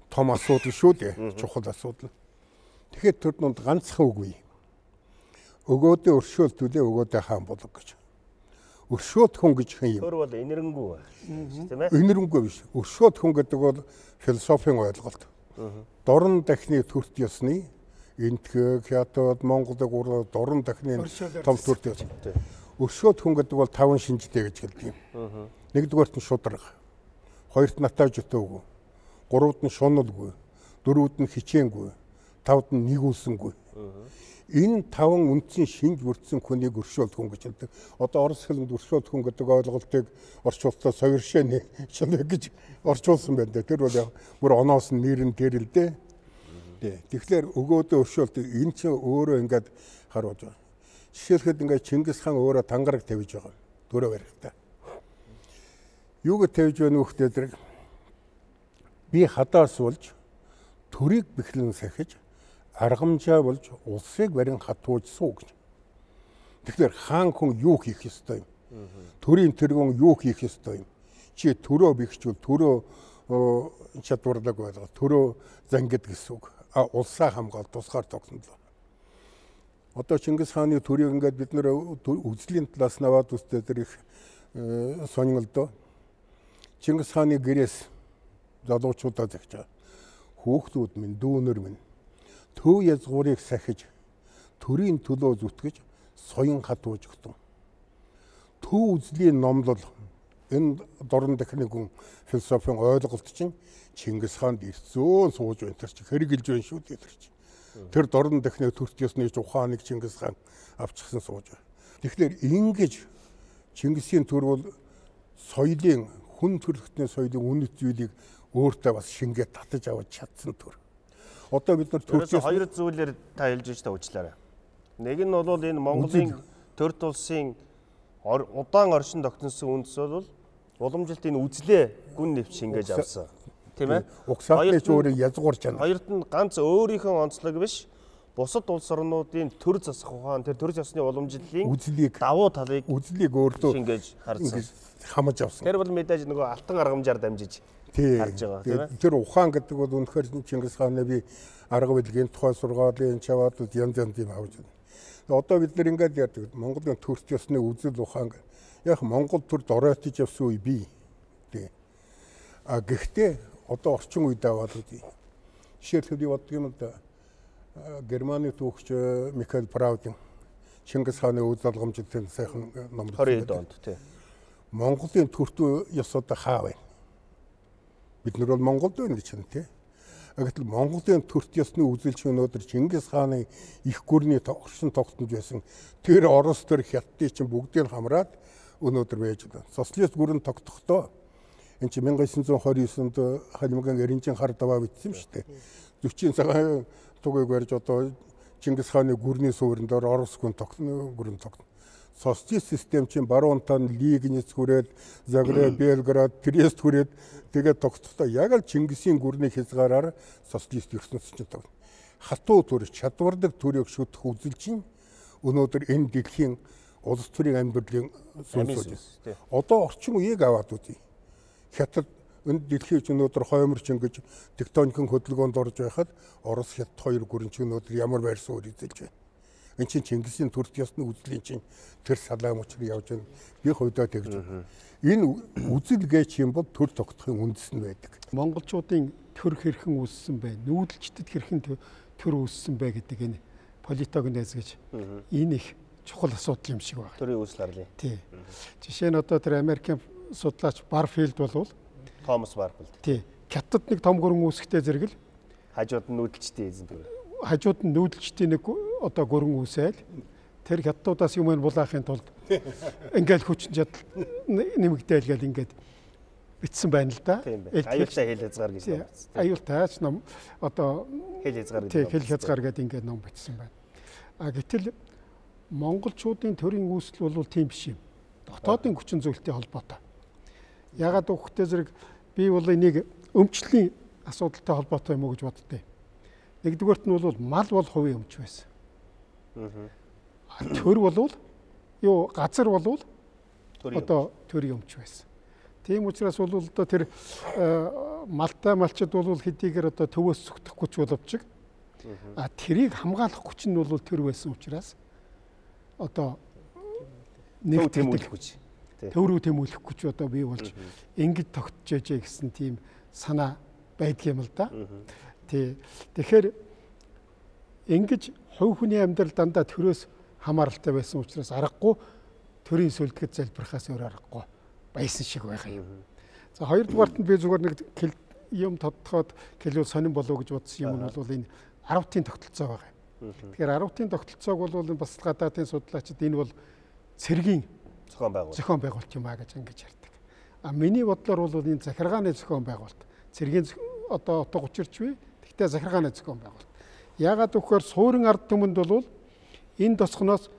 том асуудал шүү дээ. Чухал асуудал. Тэгэхээр тэр донд ганцхан үгүй. Өгөөдөө өршөөлтүүлээ өгөөдөө хаан болог гэж. Өршөөт хүн гэж хэн юм? Тэр бол инэрэнгүй тийм ээ. Инэрэнгүй биш. Өршөөт хүн гэдэг бол философийн ойлголт. Дорн дахны төрт ёсны энтхэг хятад Монголыг ураад дорн дахны том төрт ёс. Өршөөт хүн гэдэг бол 5 шинжтэй гэж хэлдэг юм. Нэгдүгээрт нь шудраг, хоёрт нь натаж өтөөгүй, гуравт нь шуналгүй, дөрөвт нь хичээнгүй, тавд нь нэгүүлсэнгүй. Энэ 5 үндсэн шинж бүрдсэн хүнийг өршөөлт хүн гэж хэлдэг. Одоо орос хэлэнд өршөөлт хүн гэдэг ойлголтыг орчуулалтаа соёршээ гэж орчуулсан байна. Тэр бол яг бүр оноос нь нэр нь тэр л дээ. Тэгэхээр өгөөдөө өршөөлт энэ чинь өөрөө ингээд харуулж байгаа. Жишээлхэд ингээд Чингис хаан өөрөө тангараг тавьж байгаа. Төрөө барихтаа. Юуг тавьж байна хүүхдүүд? Би хадаас болж төрийг бэхлэн сахиж аргамжаа болж улсыг барин хатууж суу гэж. Тэгэхээр хаан хүн юу хийх ёстой юм? Төрийн тэргүүн юу хийх ёстой юм? Чи төрөө бэхжүүл төрөө чадварлаг байлгаа. Төрөө зангид гэсэн үг. Улсаа хамгаалт тусгаар тогтнолоо. Одоо Чингис хааны төрийг ингээд бид нэр үзлийн талаас наваад үстэй тэр их сонирхолтой. Чингис хааны гэрээс залуучуудаа загчаа. Хүүхдүүд минь, дүүнер минь төв язгуурыг сахиж төрийн төлөө зүтгэж соён хатууж өгтөн. Төв үзлийн номлол энэ дорн дахны хүн философийн ойлголт чинь Чингис хаанд ирцөөн сууж байна. Тэр чинь хэрэгжилж байна шүү дээ тэр чинь. Тэр дорн дахны төрт ёсны ухааныг Чингис хаан авчихсан сууж байна. Тэгэхээр ингэж Чингисийн төр бол соёлын хүн төрөлхтний соёлын үнэт зүйлийг өөртөө бас шингээд татаж аваад чадсан төр. Одоо бид нар төрчөөс хоёр зүйлээр та хэлж байж та уучлаарай. Нэг нь бол энэ Монголын төрт улсын удаан оршин тогтносон үндэс бол уламжилт энэ үзлээ гүн нэвч шингээж авсан. Тийм ээ. Угсааны ч өөрөө язгуурч байна. Хоёрт нь ганц өөрийнхөө онцлог биш, бусад улс орнуудын төр засах ухаан, тэр төр засны уламжлалын үзлийг давуу талыг өөртөө шингээж харсан. Хамаж авсан. Тэр бол мэдээж нөгөө алтан аргамжаар дамжиж харж байгаа тийм ээ. Тэр ухаан гэдэг бол үнэхээр Чингис хааны би арга билгийн тухай сургаалын чаваадууд янз юм авч байна. Одоо бид нар ингээд ярьдаг Монголын төрт ёсны үзэл ухаан яг Монгол төрд оройтож явсан үе бий. Тий. Гэхдээ одоо орчин үед аваад үгүй. Жишээлбэл би боддог юм да. Германы түүхч Михаил Праудин Чингис хааны үйл залгамжтай сайхан ном 20 онд тий. Монголын төрт ёс одоо хаа вэ? Бид нар бол Монголд байна гэж байна тий. Гэтэл Монголын төрт ёсны үзэлч өнөөдөр Чингис хааны их гүрний оршин тогтнож байсан тэр Орос төр Хятадын чинь бүгдийг хамраад өнөөдөр байж байна. Социалист гүрэн тогтохдоо энэ чинь 1929-нд Халимган Эренжин хар даваа бичсэн шүү дээ. 40 цагаан тугыг барьж одоо Чингис хааны гүрний суурьнаар Орос гүрэн тогтно. Социалист систем чинь баруунтаа Лигниц хүрээд Загреб, Белград, Трест хүрээд тэгээд тогтохдоо яг л Чингисийн гүрний хязгаараар социалист ертөнцийн чинь тогтно. Хатуу төр чадвардаг төрийг шүтэх үзэл чинь өнөөдөр энэ дэлхийн улс төрийн амьдралын сүнс. Одоо орчин үеийг аваад үзье. Хятад энэ дэлхийн өнөөдөр хойморч ингэж тектоникийн хөдөлгөөнд орж байхад Орос Хятад хоёр гүрэн чинь өнөөдөр ямар байр суурь эзэлж байна. Энэ чинь Чингисийн төрт ёсны үзлийн чинь тэр салаам учрыг явж байна. Би хувьдаа тэгж байна. Энэ үзэл гэж юм бол төр тогтохын үндэс нь байдаг. Монголчуудын төр хэрхэн үүссэн бэ? Нүүдэлчдэд хэрхэн төр үүссэн бэ гэдэг энэ политогнез гэж энэ их чухал асуудал юм шиг байна. Төрийн үүсэл арлын. Тий. Жишээ нь одоо тэр Америкийн судлаач Барфилд болвол Томас Барфилд. Тий. Хятад нэг том гөрөн үүсгэхтэй зэрэг л хажууд нь нүүдэлчтэй эзэн тэр. Хажууд нь нүүдэлчтэй нэг одоо гөрөн үүсээл тэр хятадуудаас юм булаахын тулд ингээл хүчин чадал нэмэгдээл гэл ингээд битсэн байна л да. Аюултай хэл хязгаар гэж ном бичсэн. Аюултайч ном одоо хэл хязгаар гэж хэл хязгаар гэдэг ингээд ном бичсэн байна. А гэтэл монголчуудын төрийн үүсэл бол тийм биш юм. Дотоодын хүчин зүйлтэй холбоотой. Ягаад өгөхтэй зэрэг би бол энийг өмчлийн асуудалтай холбоотой юм уу гэж боддтой. Нэгдүгээрт нь бол мал бол хувийн өмч байсан. Төр болвол юу газар болвол одоо төрийн өмч байсан. Тийм учраас бол одоо тэр малтай малчид бол хэдийгээр одоо төвөөс зүтгэхгүй ч боловч тэрийг хамгаалах хүч нь бол төр байсан учраас одоо нэг тэмүүлэх хүч. Төврөө тэмүүлэх хүч одоо бий болж ингэж тогтжээжээ гэсэн тийм санаа байдгийн юм л да. Тэгэхээр ингэж хувь хүний амьдрал дандаа төрөөс хамааралтай байсан учраас аргагүй төрийн сүлдэгэд залбирахаас өөр аргагүй байсан шиг байгаа юм. За хоёрдугаарт нь би зүгээр нэг юм тодтоход хэлвэл сонирн болов гэж бодсон юм нь бол энэ 10-ын тогтолцоо байгаа юм. Тэгэхээр 10-ын тогтолцоог бол бас гадаадын судлаачид энэ бол цэргийн зохион байгуулалт юм а гэж ингэж ярьдаг. А миний бодлоор бол энэ захиргааны зохион байгуулалт цэргийн одоо утга учирч бий. Гэхдээ захиргааны зохион байгуулалт. Яагаад гэвэл суурин ард түмэнд бол энэ тосгоноос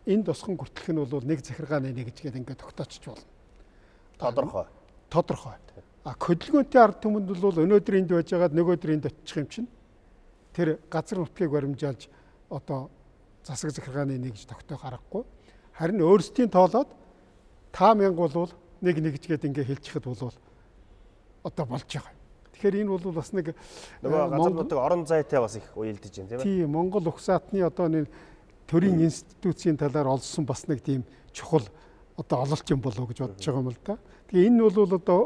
энэ тосгон хүртэлх нь бол нэг захиргааны нэг гэж ингээд тогтоочч болно. Тодорхой. А хөдөлгөөнтэй ард түмэнд бол өнөөдөр энд байж байгаад нөгөөдөр энд очих юм чинь тэр газар нутгийг баримжаалж одоо засаг захиргааны нэг гэж тогтоох аргагүй. Харин өөрсдийн тоолоод та мянга бол нэг гэд ингээ хэлчихэд бол одоо болж байгаа. Тэгэхээр энэ бол бас нэг газар нутаг орон зайтай бас их уялдаж байна тийм ээ. Тийм Монгол угсаатны одоо нэг төрийн институцийн талаар олсон бас нэг тийм чухал одоо ололт юм болов гэж бодож байгаа юм л да. Тэгээ энэ бол одоо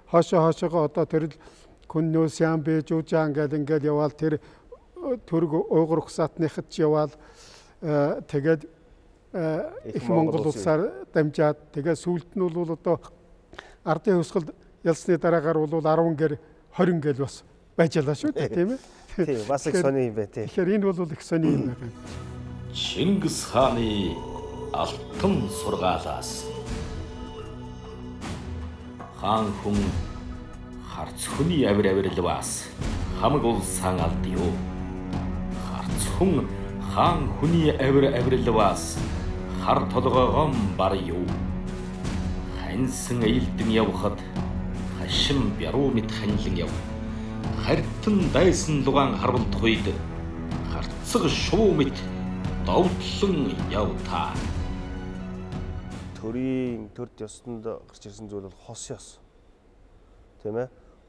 хоошоогоо одоо тэр Күннөө Сямбэ Жужаан гэдэг ингээд яваал тэр төрөг уйгур угсаатныхад ч яваал тэгээд их Монгол улсаар дамжаад тэгээд сүүлд нь бол одоо ардын хувьсгал ялсны дараагаар бол 10 гэр 20 гэл бас байжалаа шүү дээ тийм ээ. Тийм бас их сони юм байна тийм. Тэгэхээр энэ бол их сони юм байна. Чингис хааны алтан сургаалаас хаан хүн харц хүний авиралваас хамаг улсаан алдъё. Харц хүн хаан хүний авиралваас хар толгоогон баръё. Ханьсан аялдан явхад хашин бяруу мэд ханилан яв. Хартан дайсан лугаан харвалдах үед харцаг шуу мэд довтлон яв та. Төрийн төрд ёсонд гарч ирсэн зүйл бол хос ёс. Тийм ээ?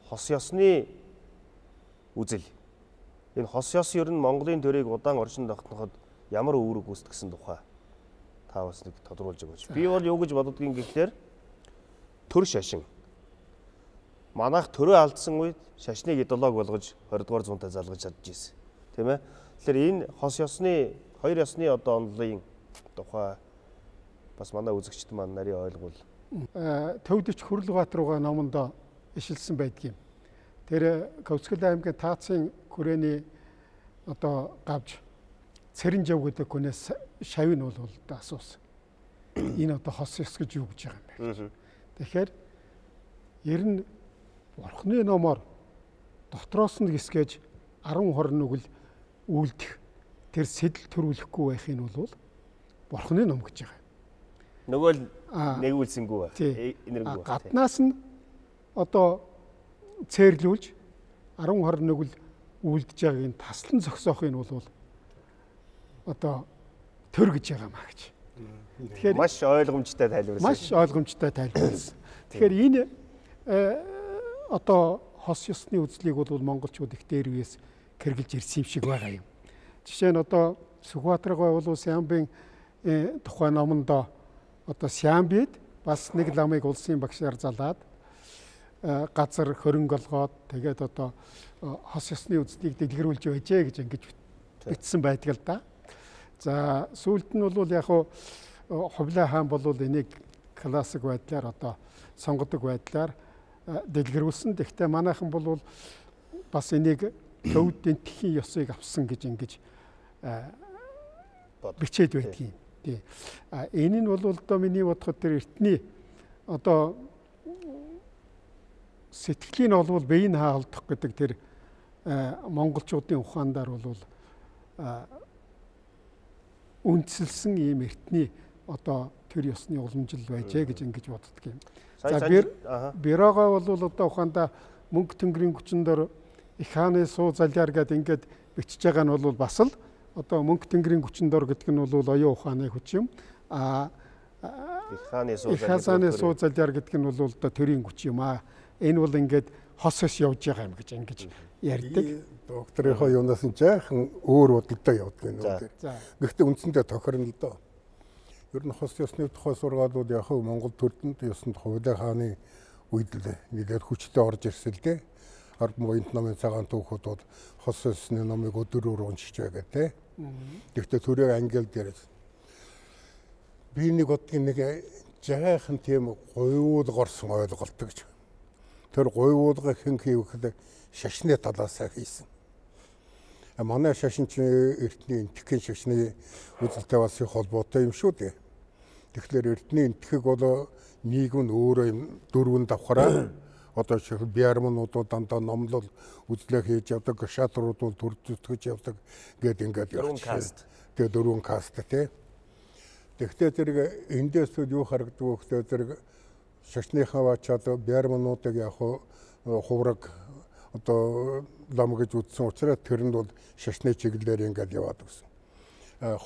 Хос ёсны үзэл. Энэ хос ёс ер нь Монголын төрийг удаан оршин тогтноход ямар үүрэг гүйцэтгсэн тухай та бас нэг тодруулж өгөөч. Би бол юу гэж боддгийг гэхлээр төр шашин. Манайх төрөө алдсан үед шашныг идеолог болгож 20 дугаар зуунтай залгаж чадж ирсэн. Тийм ээ? Тэгэхээр энэ хос ёсны хоёр ёсны одоо онолын тухай бас манай үзэгчд маань нарийн ойлгол. Төвдөч Хүрлбаатар руугаа номонд ишилсэн байдгийг. Тэр Ковскөл аймгийн Таацын хүрээний одоо гавж Цэрэнжав гэдэг хүнээс шавь нь бол асуусан. Энэ одоо хос ёс гэж юу гэж байгаа юм бэ? Тэгэхээр ер нь Бурхны номоор дотроос нь гисгэж 10-20 нүгэл үйлдэх тэр сэтэл төрүүлэхгүй байхын бол Бурхны ном гэж байгаа. Нөгөө л нэгүүлсэнгүй энэргүй. Гаднаас нь одоо цээрлүүлж 10-20 нүгэл үйлдэж байгааг нь таслан зогсоохын бол одоо төр гэж байгаа маа гэж. Тэгэхээр маш ойлгомжтой тайлбарласан. Маш ойлгомжтой тайлбарласан. Тэгэхээр энэ одоо хос ёсны үзлийг бол монголчууд их дээр үеэс хэрэгжилж ирсэн юм шиг байгаа юм. Жишээ нь одоо Сүхбаатар байгууллагын Сямбын тухайн номонд одоо Сямбид бас нэг ламыг улсын багшаар залаад газар хөрөнгө олгоод тэгээд одоо хос ёсны үзлийг дэлгэрүүлж байжээ гэж ингэж бичсэн байдаг л да. За сүүлд нь бол яг хуу Хувлаа хаан бол энийг классик байдлаар одоо сонгодог байдлаар дэлгэрүүлсэн. Гэхдээ манайхан бол бас энийг төвд энтхийн ёсыг авсан гэж ингэж бичээд байдгийг. Тий. Энэ нь бол одоо миний бодоход тэр эртний одоо сэтгэлийн олвол биеийн хаалдах гэдэг тэр монголчуудын ухаандаар бол үндсэлсэн ийм эртний одоо тэр ёсны уламжил байжээ гэж ингэж боддог юм. За бирогоо бол одоо ухаандаа мөнгө тэнгэрийн хүчндэр их хааны суу залиар гэдэг ингээд бичиж байгаа нь бол бас л одоо мөнгө тэнгэрийн хүчндэр гэдэг нь бол оюун ухааны хүч юм. их хааны суу залиар гэдэг нь бол одоо төрийн хүч юм. Энэ бол ингээд хос хос явж байгаа юм гэж ингэж ярьдаг. Докторийнхоо юунаас нь жаахан өөр бодолтой явдаг юм уу. Гэхдээ үндсэндээ тохирно л доо. Ер нь хос ёсны тухай сургаалууд яг хөө Монгол төрдөнд ёсонд Хувлаа хааны үед л нэлээд хүчтэй орж ирсэн л дээ. Ард моёнт намын цагаан түүхүүд бол хос ёсны номыг өдрөөр уншиж байгаа те. Гэхдээ төрөө англи дээр би нэг одгийн нэг жаахан тийм гуйуулгарсан ойлголт гэж. Тэр гуйуулга хэн хийвэхэд шашны талаасаа хийсэн. Манай шашинч эртний энтхийн шашны үзэлтэй бас их холбоотой юм шүү дээ. Тэгэхээр эртний энтхэг бол нийгэм нь өөрөө дөрвөн давхраа одоо жишээл биармнууд дандаа номлол үзлээ хийж явдаг, шатрууд бол төр зүтгэж явдаг гэд ингээд явчихсан. Тэгээ дөрвөн каст тий. Тэгвэл зэрэг эндээс юу харагддаг вэ гэхээр зэрэг шашныхаа бачаад биармнуудыг яг хувраг одоо лам гэж үзсэн учраас тэрэнд бол шашны чиглэлээр ингээд яваад өгсөн.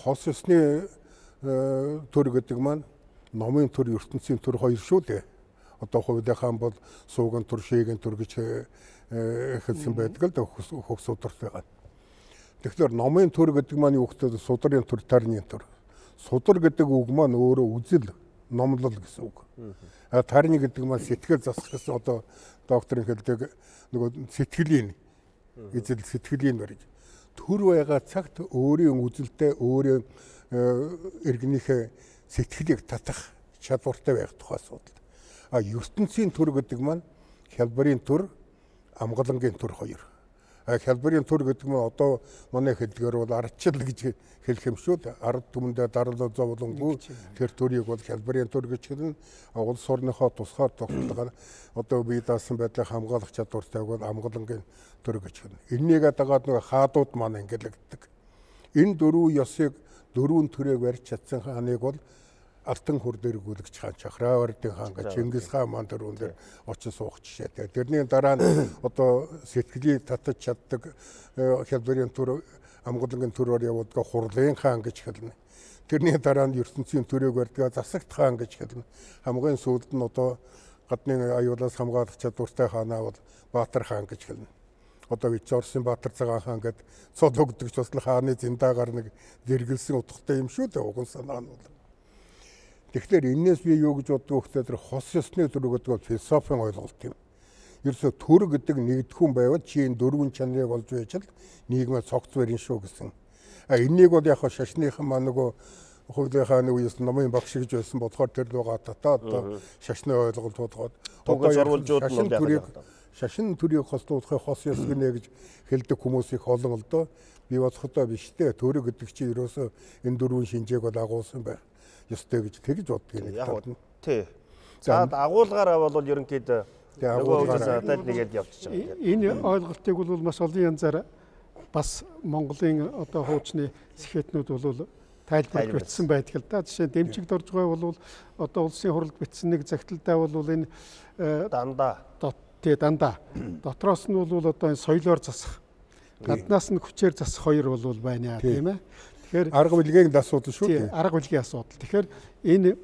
Хос ёсны төр гэдэг маань номын төр, ертөнцийн төр хоёр шүү дээ. Одоо Хувлаа хаан бол сууган төр, шээгийн төр гэж хэлсэн байдаг л хөх судртайгаа. Тэгэхээр номын төр гэдэг маань юу гэхээр судрын төр, тарны төр. Судар гэдэг үг маань өөрөө үзэл, номлол гэсэн үг. Тарны гэдэг маань сэтгэл засах гэсэн одоо докторын хэлдэг нөгөө сэтгэлийн эзэл сэтгэлийн барьж төр байгаа цагт өөрийн үзэлтэй өөрийн иргэнийхээ сэтгэлийг татах чадвартай байх тухай асуудал. ертөнцийн төр гэдэг маань хялбарын төр, амгалангийн төр хоёр. Хялбарын төр гэдэг нь одоо манай хэлдгээр бол ардчил гэж хэлэх юм шүү дээ. Ард түмэндээ дарлал зовлонгүй тэр төрийг бол хялбарын төр гэж хэлнэ. Улс орныхоо тусгаар тогтолцоогоор одоо бие даасан байдлыг хамгаалах чадвартайг бол амгалангийн төр гэж хэлнэ. Энийгээ дагаад нэг хаадууд маань ангилагддаг. Энэ дөрвөн ёсыг дөрвөн төрөйг барьж чадсан хааныг бол Алтан хур дэргүүлэгч хаан, Чахраавардын хаан гэж Чингис хаан маань дөрвөн дээр очиж суух жишээтэй. Тэрний дараа нь одоо сэтгэлийг татаж чаддаг хялбарын төр, амгалангийн төрөөр явуулдаг Хурлын хаан гэж хэлнэ. Тэрний дараа нь ертөнцийн төрөйг барьдаг Засагт хаан гэж хэлнэ. Хамгийн сүүлд нь одоо гадны аюулаас хамгаалах чадвартай хаанаа бол Баатар хаан гэж хэлнэ. Одоо Вич Орсын Баатар цагаан хаан гэдэг цол өгдөгч бас хааны зиндаагаар нэг зэрэглэсэн утгатай юм шүү дээ. Уган санаа нь бол. Тэгэхээр энэс би юу гэж боддог вэ гэхээр хос ёсны төр гэдэг философийн ойлголт юм. Ерөөсө төр гэдэг нэгдэхүүн байвал чи энэ дөрвөн чанарыг олж байж л нийгмээ цогц барин шүү гэсэн. Энийг бол яг шашныхан маань нөгөө Хувлаа хааны үеэс номын багш гэж байсан болохоор тэр лугаа татаад шашны ойлголт болгоод одоо шашин төрийг хослуулахыг хос ёс гинэ гэж хэлдэг хүмүүс их олон л доо. Би бодохдоо биш дээ. Төр гэдэг чи ерөөсө энэ дөрвөн шинжээг бол агуулсан байх ёстой гэж тэгж боддог юм. Тий. За агуулгаараа бол ерөнхийдөө нэгээд явчихж байгаа. Энэ ойлголтыг бол маш олон янзаар бас Монголын одоо хуучны сэхэтнүүд бол тайлбар бичсэн байдаг л да. Жишээ нь дэмжигд орж байгаа бол одоо улсын хурлд бичсэн нэг загталтай бол энэ дандаа дотроос нь бол одоо энэ соёлоор засах, гаднаас нь хүчээр засах хоёр бол байна тийм ээ. Тэгэхээр арга билгийн асуудал шүү дээ. Арга билгийн асуудал. Тэгэхээр энэ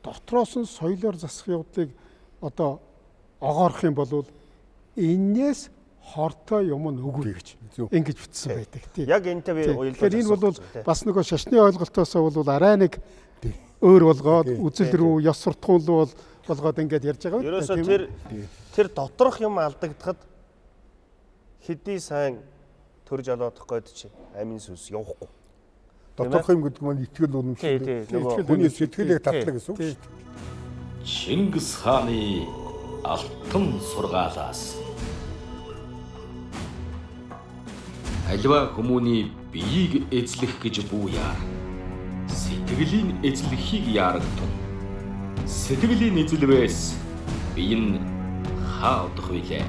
дотроос нь соёлоор засах явдлыг одоо огоорох юм бол энээс хортой юм нүгүр гэж ингэж бичсэн байдаг тийм. Яг энэтэй би уялдаж. Тэгэхээр энэ бол бас нөгөө шашны ойлголтоос бол арай нэг өөр болгоод үзэл рүү ёс суртахуун руу болгоод ингэж ярьж байгаа. Ерөөсөө тэр доторх юм алдагдахад хэдий сайн төр жолоодох гээд чи амин сүнс явахгүй. Доторх юм гэдэг нь итгэл үнэмшил. Хүний сэтгэлийг татлаг гэсэн үг шүү дээ. Чингис хааны алтан сургаалаас аливаа хүмүүний биеийг эзлэх гэж бууяар сэтгэлийн эзлэхийг яарагтун. Сэтгэлийн эзлэвээс бие нь хаадах билээ.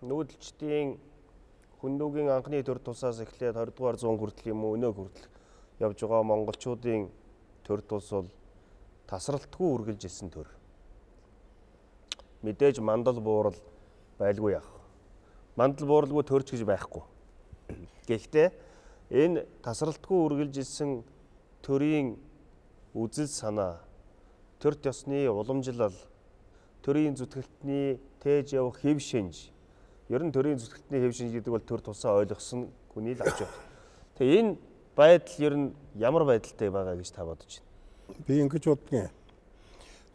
Нүүдэлчдийн хүндүүгийн анхны төр тусаас эхлээд 20 дугаар зуун хүртэл юм уу өнөө хүртэл явж байгаа монголчуудын төр тус бол тасралтгүй үргэлж исэн төр. Мэдээж мандал буурал байлгүй яах. Мандал бууралгүй төрч гэж байхгүй. Гэхдээ энэ тасралтгүй үргэлж исэн төрийн үзэл санаа, төр ёсны уламжлал, төрийн зүтгэлтний тээж явах хэв шинж. Ер нь төрийн зүтгэлтний хэв шинж гэдэг бол төр тусаа ойлгосон хүний л авч явах. Тэгээ энэ байдал ер нь ямар байдалтай байгаа гэж та бодож байна? Би ингэж боддгийн.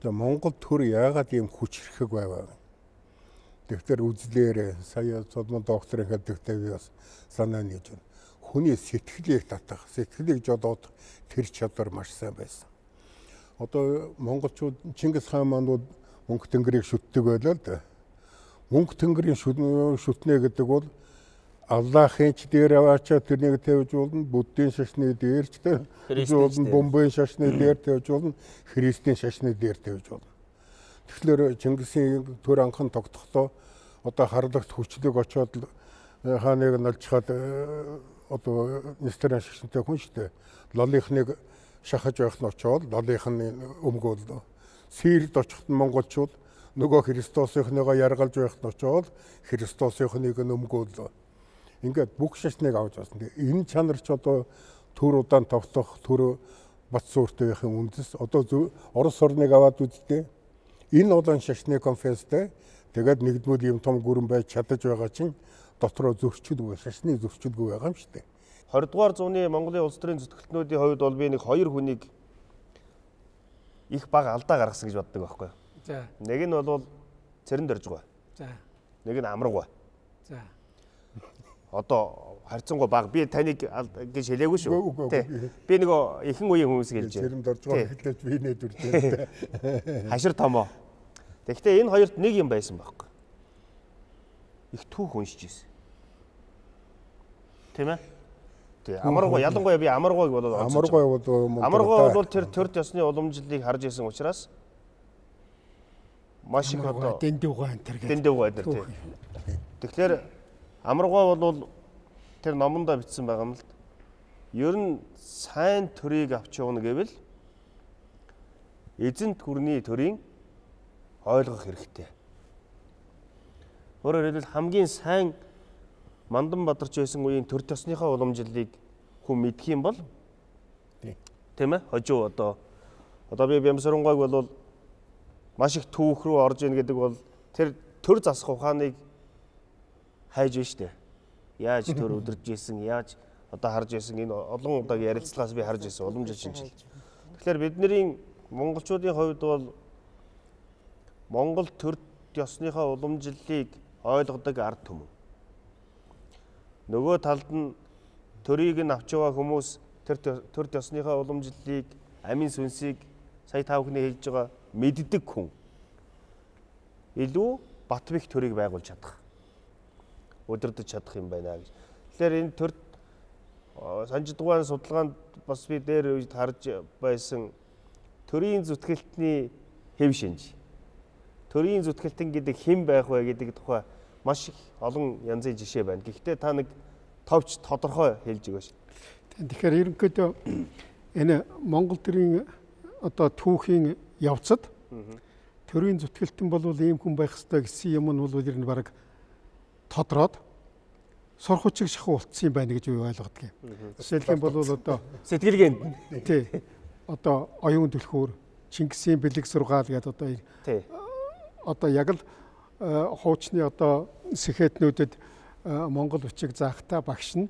Монгол төр яагаад ийм хүч хэрэг байваа? Тэгэхээр үзлээр сая цодмон докторын хэлдэгтэй би бас санаа нийж байна. Хүний сэтгэлийг татах, сэтгэлийг жодоод тэр чадвар маш сайн байсан. Одоо монголчууд Чингис хаан маань мөнх тэнгэрийг шүтдэг байлаа л да. Мөнх тэнгэрийн шүтнэ гэдэг бол Аллахын ч дээр аваачаа тэрнийг тавьж болно, Буддийн шашны дээр ч тавьж болно, Бомбын шашны дээр тавьж болно, Христийн шашны дээр тавьж болно. Тэгэхээр Чингисийн төр анхан тогтохдоо одоо харлагт хүчлэг очоод хааныг налжхаад одоо нистерэн шашинтай хүн шүү дээ. Лолынхныг шахаж байх нь очоод лолынхны өмгөөлөө. Сирд очихд монголчууд нөгөө Христосынхныгоо яргалж байх нь очоод Христосынхныг өмгөөлөө. Ингээд бүх шашныг авч байна. Энэ чанар ч одоо төр удаан тогтох, төр бат сууртай байхын үндэс. Одоо Орос орныг аваад үзтээ. Энэ олон шашны конференцтэй тэгээд нэгдмүүд юм том гүрэн байж чадаж байгаа чинь дотроо зөрчилгүй, шашны зөрчилгүй байгаа юм шүү дээ. 20 дугаар зууны Монголын улс төрийн зүтгэлтнүүдийн хувьд бол би нэг хоёр хүнийг их бага алдаа гаргасан гэж боддог байхгүй юу? За. Нэг нь бол Цэрэн Доржгой. За. Нэг нь Амраггүй. За. Одоо харьцангуй бага би таныг гэж хэлээгүй шүү. Би нөгөө ихэнх үеийн хүмүүс хэлж байна. Цэрэн Доржгой хэлээд би нээдүртэй. Хашир томоо. Тэгэхдээ энэ хоёрт нэг юм байсан байхгүй. Их түүх уншиж ирсэн. Тийм ээ? Тэгээ Амаргой ялангуяа би Амаргойг болоод Амаргой бол тэр төр ёсны уламжлалыг харж исэн учраас маш их одоо дэндүүгой энэ тийм. Тэгэхээр Амаргой бол тэр номондоо бичсэн байгаа юм л. Ер нь сайн төрийг авч явна гэвэл эзэнт гүрний төрийн ойлгох хэрэгтэй. Өөрөөр хэлбэл хамгийн сайн Мандан Бадарч байсан үеийн төр төсныхаа уламжлалыг хүн мэдх юм бол тийм ээ хожуу одоо би Бямсарангойг бол маш их түүх рүү орж ийн гэдэг бол тэр төр засах ухааныг хайж байна шүү дээ. Яаж төр өдөрж ийсэн, яаж одоо харж ийсэн энэ олон удаагийн ярилцлагаас би харж ийсэн уламжлал шинжил. Тэгэхээр бидний монголчуудын хувьд бол Монгол төр ёсныхаа уламжлалыг ойлгодог ард түмэн. Нөгөө талд нь төрийг нь авч яваа хүмүүс төр ёсныхаа уламжлалыг, амин сүнсийг сая та бүхний хэлж байгаа мэддэг хүн. Илүү Батбих төрийг байгуулж чадах. Өдөрдөж чадах юм байна гэж. Тэгэхээр энэ төр санжидгуун судалгаанд бас би дээр үед харж байсан төрийн зүтгэлтний хэв шинж. Төрийн зүтгэлтэн гэдэг хэн байх вэ гэдэг тухай маш их олон янзын жишээ байна. Гэхдээ та нэг товч тодорхой хэлж өгөөч. Тэгэхээр ерөнхийдөө энэ Монгол төрийн одоо түүхийн явцад төрийн зүтгэлтэн бол ийм хүн байх ёстой гэсэн юм нь бол ер нь бараг тодроод сурхучиг шахуу болцсон юм байна гэж би ойлгодог юм. Жишээлх юм бол одоо сэтгэлгээнд тий одоо оюун түлхүүр Чингисийн бэлэг сургаал гэдэг одоо тий одоо яг л хуучны одоо сэхэтнүүдэд Монгол бичиг заахта багш нь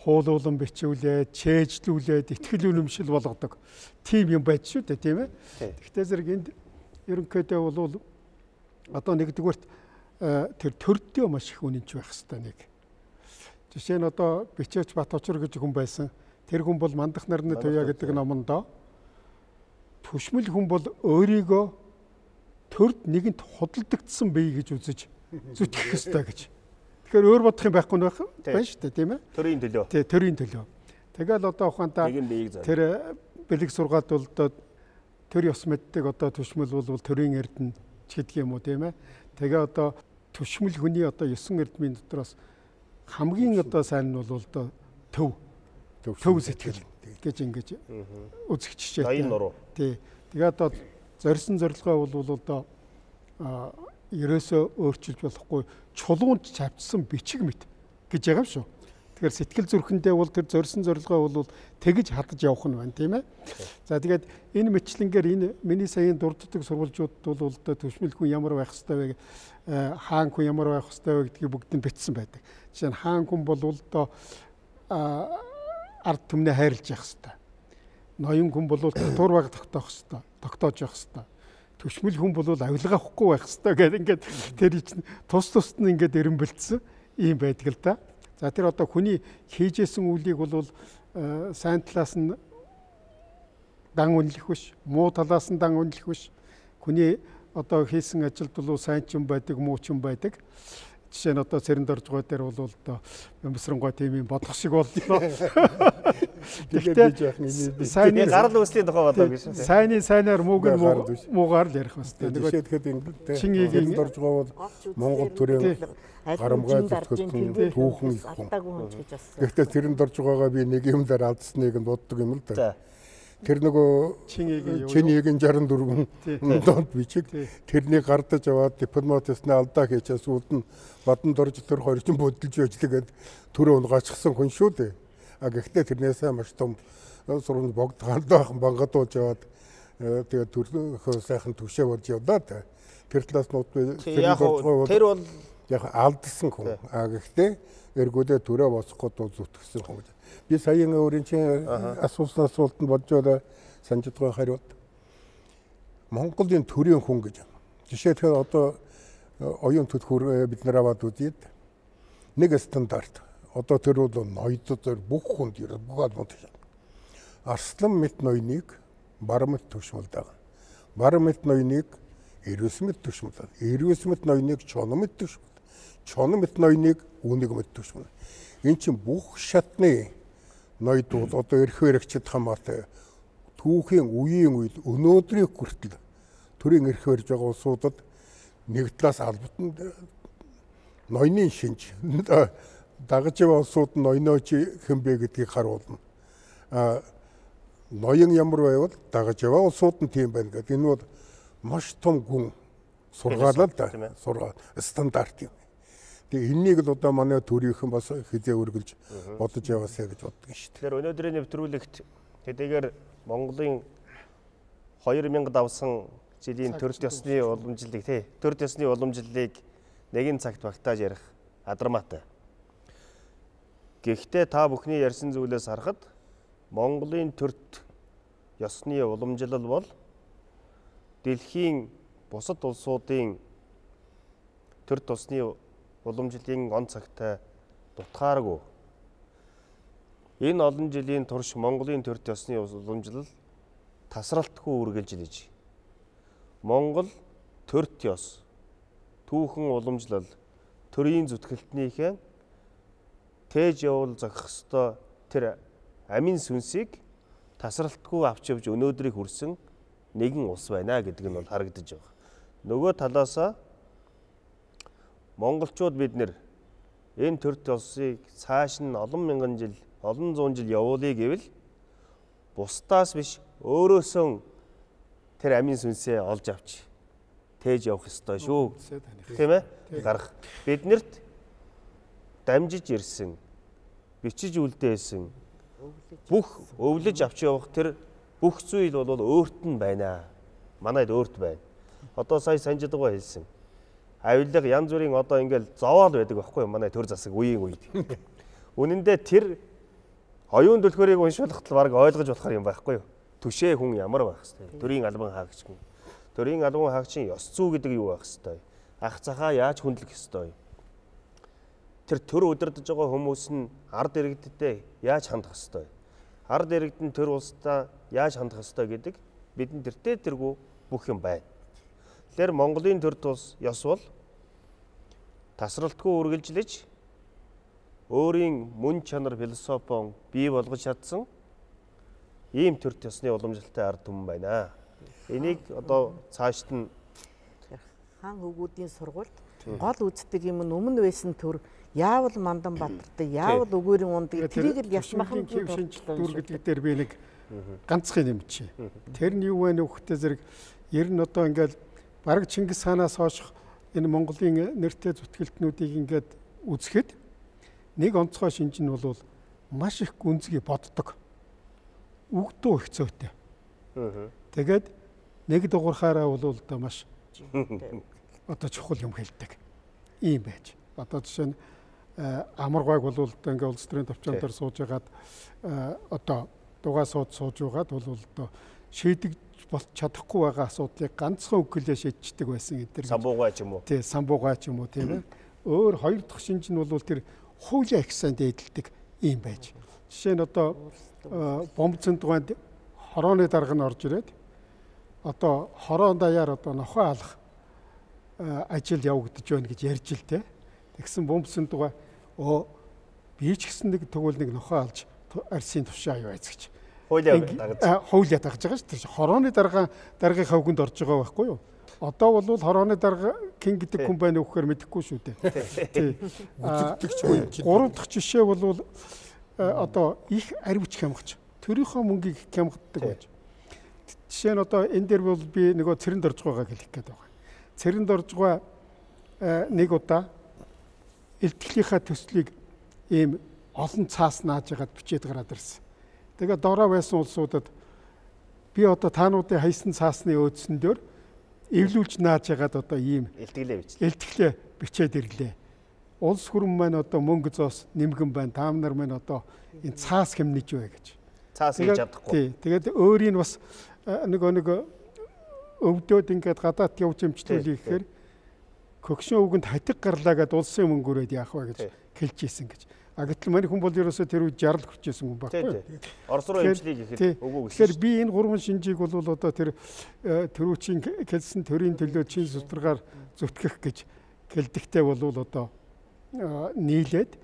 хуулуулан бичүүлээд, чэйжлүүлээд, итгэл үнэмшил болгодог. Тим юм байж шүү дээ, тийм ээ. Гэхдээ зэрэг энд ерөнхийдөө бол одоо нэгдүгээрт тэр төрдөө маш их үнэнч байх хэрэгтэй нэг. Жишээ нь одоо Бичээч Бат Очор гэж хүн байсан. Тэр хүн бол Мандах нарны туяа гэдэг номондоо түшмэл хүн бол өөрийгөө төрд нэгэнт худалдагдсан бий гэж үзэж зүтгэх ёстой гэж. Тэгэхээр өөр бодох юм байхгүй байх байна шүү дээ, тийм ээ? Төрийн төлөө. Тий, төрийн төлөө. Тэгэл одоо ухаантаа тэр бэлэг сургаалт бол одоо төр ёс мэддэг одоо түшмэл бол төрийн эрдэнэ ч гэдэг юм уу, тийм ээ? Тэгээ одоо түшмэл хүний одоо 9 эрдмийн дотроос хамгийн одоо сайн нь бол одоо төв сэтгэл гэж ингэж үзэх жишээ. Тий. Тэгээ одоо зорьсон зорилгоо бол одоо ерөөсөө өөрчилж болохгүй чулуунд чавцсан бичиг мэт гэж байгаа юм шүү. Тэгэхээр сэтгэл зүрхэндээ бол тэр зорьсон зорилгоо бол тэгж хадаж явах нь байна, тийм ээ. За тэгээд энэ мэтлэнгээр энэ миний саяын дурддаг сурвалжууд бол одоо түшмэл хүн ямар байх ёстой вэ, хаан хүн ямар байх ёстой вэ гэдгийг бүгд нь бичсэн байдаг. Жишээ нь хаан хүн бол одоо ард түмнээ хайрлаж явах ёстой. Ноён хүн бол татвар баг тогтоож явах ёстой. Түшмэл хүн бол авилгаа авахгүй байх ёстой гэдэг ингээд тэр чинь тус нь ингээд эренбэлдсэн юм байдаг л да. За тэр одоо хүний хийжсэн үйлийг бол сайн талаас нь дан үнэлэх биш, муу талаас нь дан үнэлэх биш. Хүний одоо хийсэн ажилд бол сайн ч юм байдаг, муу ч юм байдаг. Жишээ нь одоо цэрэнд орж байгаа дээр бол одоо бямсрангой тийм юм бодох шиг боллоо. Тэгэхдээ сайнны гарал үүслийн тухай бодлоо гэж. Сайнны сайнаар муугаар л ярих басна. Нөгөө тэгэхэд цэрэнд орж байгаа бол Монгол төрийн гарамгай зөвхөн түүхэн их хүн. Гэхдээ цэрэнд орж байгаагаа би нэг юм дээр алдсныг нь боддог юм л да. Тэр нөгөө Чинигийн 64 донд бичиг тэрнийг гардаж аваад дипломатисны алдаа хийчихээс үүд нь баданд орж тэр хорчин бодолж байж тэгээд төрөө унгаачихсан хүн шүү дээ. А гэхдээ тэрнээсээ маш том сургууль богд гандахан бангадуулж яваад тэгээд төрөө сайхан төвшөө болж явлаа та. Тэр талаас нь тэр бол яг алдсан хүн. А гэхдээ эргүүдээ төрөө босгоход зүтгэсэн хүн. Би саяын өөрийн чинь асуусан асуултанд бодjoo санаж байгаа хариулт. Монголын төрийн хүн гэж. Жишээлбэл одоо оюун төлхөр бид нар аваад үзээд нэг стандарт. Одоо тэр бол ноёдод бүх хүнд ерөө бүх албанд шат. Арслан мэт ноёныг бар мэт түшмэл дагна. Бар мэт ноёныг эрвэс мэт түшмэл дагна. Эрвэс мэт ноёныг чон мэт түшмэл. Чон мэт ноёныг үнэг мэт түшмэл. Энд чинь бүх шатны ноёдууд одоо эрх баригчид хамаатай түүхийн үеийн үед өнөөдрийн хүртэл төрийн эрх барьж байгаа улсуудад нэг талаас албатан ноёны шинж дагаж яваа улсууд нь ноёнооч хэмбэ гэдгийг харуулна. Ноён ямар байвал дагаж яваа улсууд нь тийм байна гэдэг. Энэ бол маш том гүн сургаалаа да. Сургаал стандарт юм. Тэгээ энэнийг л одоо манай төрийнхэн бас хизээ үргэлж бодож яваасаа гэж боддог шүү дээ. Тэгэхээр өнөөдрийн нэвтрүүлэгт хэдийгээр Монголын 2000 давсан жилийн төрөлт ёсны уламжлалыг төрөлт ёсны уламжлалыг нэгэн цагт багтааж ярих адармаатай. Гэхдээ та бүхний ярьсан зүйлээс харахад Монголын төрөлт ёсны уламжлал бол дэлхийн бусад улсуудын төрөлт ёсны уламжлалын он цагтай дутгааргүй. Энэ олон жилийн турш Монголын төрөлт ёсны уламжлал тасралтгүй үргэлжилж Монгол төрөлт ёс түүхэн уламжлал төрийн зүтгэлтнийхээ тээж явуул зохих ёстой тэр амин сүнсийг тасралтгүй авч явж өнөөдрийг хүрсэн нэгэн улс байна гэдэг нь бол харагдаж байгаа. Нөгөө талаасаа монголчууд бид нэр энэ төрөлт ёсыг цааш нь олон мянган жил, олон зуун жил явуулъя гэвэл бусдаас биш өөрөөсөө тэр амин сүнсээ олж авч тээж явах ёстой шүү. Тийм ээ? Гарах. Биднэрт дамжиж ирсэн, бичиж үлдээсэн бүх өвлөж авч явах тэр бүх зүйл бол өөрт нь байна. Манайд өөрт байна. Одоо сая санжидгаа хэлсэн. Авилга янз бүрийн одоо ингээл зовоол байдаг байхгүй манай төр засаг үеийн үед. Үнэн дээр тэр оюун төлхөөрийг уншуулахад баг ойлгож болохоор юм байхгүй юу? Түшээ хүн ямар байх хэвээр. Төрийн албан хаагч хүн. Төрийн албан хаагчийн ёс зүй гэдэг юу байх хэвээр. Ах цахаа яаж хүндлэх хэвээр. Тэр төр удирдах байгаа хүмүүс нь ард иргэдтэй яаж хандах хэвээр. ард иргэдэн төр улстай яаж хандах ёстой гэдэг бидэнд тэргүй бүх юм байна. Тэгэхээр Монголын төр тус ёс бол тасралтгүй үргэлжлэж өөрийн мөн чанар философион бий болгож чадсан ийм төр төсны уламжлалтай ард түмэн байна. Энийг одоо цаашд нь хаан хөвгүүдийн сургуульд гол үздэг юм нь өмнө байсан төр яавал Мандан Баатартай яавал өгөөрийн ундаг тэрийг л яш махан дүр гэдэг дээр би нэг ганцхан юм чи. Тэр нь юу вэ нөхөтэй зэрэг ер нь одоо ингээл бараг Чингис хаанаас хойш энэ Монголын нэртэй зүтгэлтнүүдийг ингээд үзэхэд нэг онцгой шинж нь бол маш их гүнзгий боддог. Үгдөө их зүйтэй. Тэгээд нэг дугуйхаараа бол одоо маш одоо чухал юм хэлдэг. Ийм байж. Одоо жишээ нь амаргайг бол одоо ингээ улс төрийн төвчөн дээр сууж байгаад одоо дугаа сууж байгаад бол одоо шийдэж бол чадахгүй байгаа асуудлыг ганцхан үг хэлээ шийдчихдэг байсан гэдэг. Самбуугай ч юм уу. Тий, самбуугай ч юм уу тийм ээ. Өөр хоёр дахь шинж нь бол тэр хуулийн агсаанд эдэлдэг ийм байж. Жишээ нь одоо бомбцэн дуганд хорооны дарга нь орж ирээд одоо хороон даяар одоо нохой алах ажил явагдаж байна гэж ярьж л те. Тэгсэн бомбцэн дугаа би ч гэсэн нэг тэгвэл нэг нохой алж арсын тушаа юу айцгч. Хуулиа дагаж байгаа шүү дээ. Хорооны даргын хавганд орж байгаа байхгүй юу? Одоо бол хорооны дарга хэн гэдэг хүн байна уу гэхээр мэдэхгүй шүү дээ. Тий. Гурав дахь жишээ бол одоо их аривч хямгач. Төрийнхөө мөнгийг хямгаддаг байж. Жишээ нь одоо энэ дээр бол би нөгөө цэрэнд орж байгааг хэлэх гээд байгаа. Цэрэнд орж байгаа нэг удаа элтгэлийнхаа төслийг ийм олон цаас нааж ягаад бичээд гараад ирсэн. Тэгээд доороо байсан улсуудад би одоо таануудын хайсан цаасны өөдсөн дээр эвлүүлж нааж ягаад одоо ийм элтгэлээ бичээд ирлээ. Улс хүрэн маань одоо мөнгө зоос нэмгэн байна. Та нар маань одоо энэ цаас хэмнэж бай гэж. Цаас хийж чадахгүй. Тий. Тэгээд өөрийн бас нэг өвдөд ингээд гадаад явж эмчлүүлээ гэхээр кокшин өвгөнд хатиг гарлаа гэд улсын мөнгөөрөөд яах вэ гэж хэлж ийсэн гэж. А гэтэл манай хүн бол ерөөсөө тэр үед 60 хүрчээсэн хүн байхгүй. Орос руу эмчлэе гэхэд үгүй гэсэн. Тэгэхээр би энэ гурван шинжийг бол одоо тэр төрүүчийн хэлсэн төрийн төлөө чин сударгаар зүтгэх гэж хэлдэгтэй бол одоо нийлээд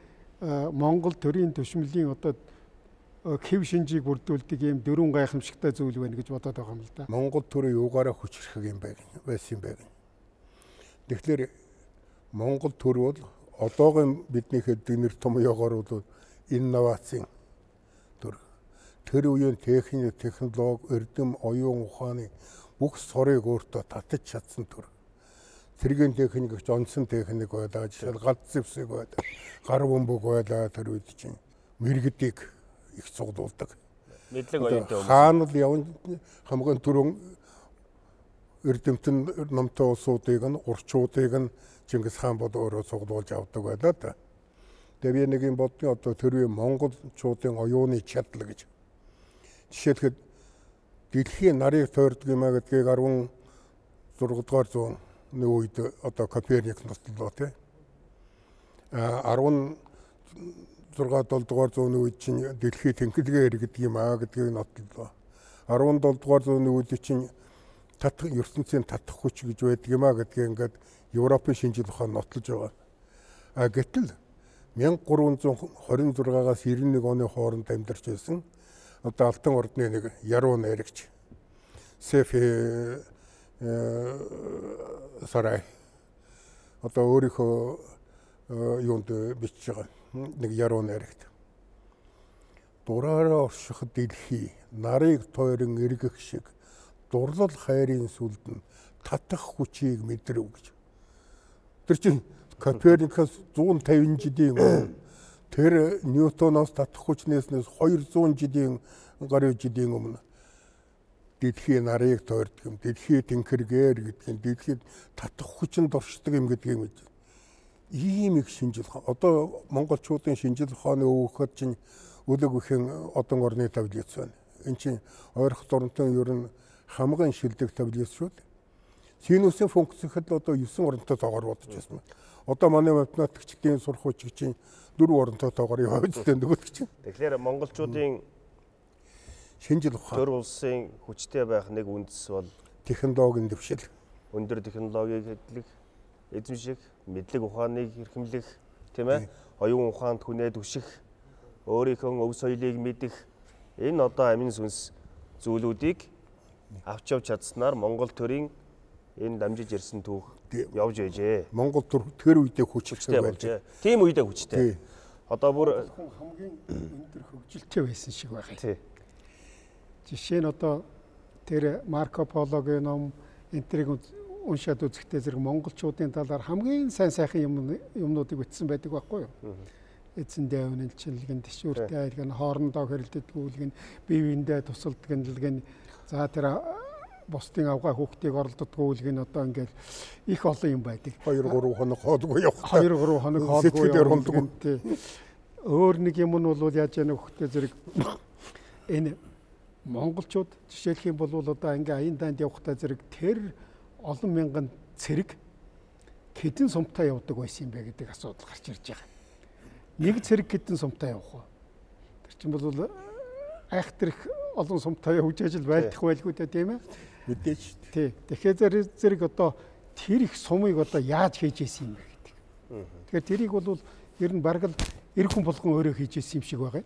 Монгол төрийн төшмөлийн одоо хэв шинжийг бүрдүүлдэг ийм дөрвөн гайхамшигтай зүйл байна гэж бодоод байгаа юм л да. Монгол төрийн юугаараа хүчрэх юм байсан юм байна. Тэгэхээр Монгол төр бол одоогийн бидний хэлдэг нэр томьёогоор бол инновацийн төр. Тэр үеийн техник, технологи, эрдэм, оюун ухааны бүх сорыг өөртөө татаж чадсан төр. Цэргийн техник гэж онцсон техник байлаа, жишээл галт зэвсэг байлаа, гар бөмбөг байлаа тэр үед чинь мэрэгдийг их цуглуулдаг. Мэдлэг оюунтай хүмүүс. Хаанал явна хамгийн түрүүн эрдэмтэн номтой улсуудыг нь урчуудыг нь Чингис хаан бол өөрөө цуглуулж авдаг байлаа да. Тэгээ би нэг юм бодны одоо тэрвээ монголчуудын оюуны чадал гэж. Жишээлхэд дэлхийн нарыг тойрдог юм а гэдгийг 16 дугаар зууны үед одоо Коперник нотлоо тий. 16 7 дугаар зууны үед чинь дэлхий тэнхлэгээр гэдэг юм а гэдгийг нотлоо. 17 дугаар зууны үед чинь татах ертөнцийн татах хүч гэж байдаг юм а гэдгийг ингээд Европын шинжлэх ухаан нотлож байгаа. Гэтэл 1326-аас 91 оны хооронд амьдарч байсан одоо Алтан ордны нэг яруу найрагч Сефи сарай одоо өөрийнхөө юунд бичиж байгаа нэг яруу найрагт дураараа орших дэлхий нарыг тойрон эргэх шиг дурлал хайрын сүлд нь татах хүчийг мэдрэв гэж. Тэр чинь Коперникаас 150 жилийн тэр Ньютоноос татах хүчнээс 200 жилийн гарын жилийн өмнө дэлхийн нарыг тойрдог юм, дэлхий тэнхэргээр гэдэг нь дэлхийд татах хүчинд оршдог юм гэдгийг мэд. Ийм их шинжлэх ухаан. Одоо монголчуудын шинжлэх ухааны өвөхөд чинь өлөг ихэн одон орны таблиц байна. Энд чинь ойрох дурантан ер нь хамгийн шилдэг таблиц шүү дээ. Синусийн функц гэхэд одоо 9 оронтой тоогоор бодож байсан. Одоо манай математикчдын сурах хүч чинь 4 оронтой тоогоор яваад байгаа нөгөөд чинь. Тэгэхээр монголчуудын шинжил ухаан. Төр улсын хүчтэй байх нэг үндэс бол Технологийн дэвшил. өндөр технологиг хэдлэх, эзэмших, мэдлэг ухааныг эрхэмлэх, тийм ээ? Оюун ухаанд хүнээ түших, өөрийнхөө өв соёлыг мэдэх энэ одоо амин сүнс зүйлүүдийг авч явж чадсанаар Монгол төрийн энэ дамжиж ирсэн түүх явж байжээ. Монгол тэр үедээ хүчтэй байжээ. Тийм үедээ хүчтэй. Одоо бүр хамгийн өндөр хөгжилтэй байсан шиг байна. Тий. Жишээ нь одоо тэр Марко Пологийн ном энтриг уншаад үзэхдээ зэрэг монголчуудын талаар хамгийн сайн сайхан юмнуудыг бичсэн байдаг байхгүй юу? Эзэндээ үнэлчилгэн, тишүүртэй айлгэн, хоорондоо хэрэлдэггүүлгэн, бие биендээ тусалдгэнлгэн, за тэр бусдын авгаа хүүхдийг оролддоггүйлгэн одоо ингээд их олон юм байдаг. 2-3 хоног хоолгүй явах. 2-3 хоног хоолгүй явах. Өөр нэг юм нь бол яаж яана хөхтэй зэрэг энэ монголчууд жишээлх юм бол одоо ингээ аян данд явахдаа зэрэг тэр олон мянган цэрэг хэдэн сумтаа явдаг байсан юм бэ гэдэг асуудал гарч ирж байгаа. Нэг цэрэг хэдэн сумтаа явах вэ? Тэр чинь бол айхтар их олон сумтаа явж ажил байлдах байлгүй дээ тийм ээ? Мэдээж. Тий. Тэгэхээр зэрэг одоо тэр их сумыг одоо яаж хийж ийсэн юм бэ гэдэг. Тэгэхээр тэрийг бол ер нь бараг л эр хүн болгон өөрөө хийж ийсэн юм шиг байгаа.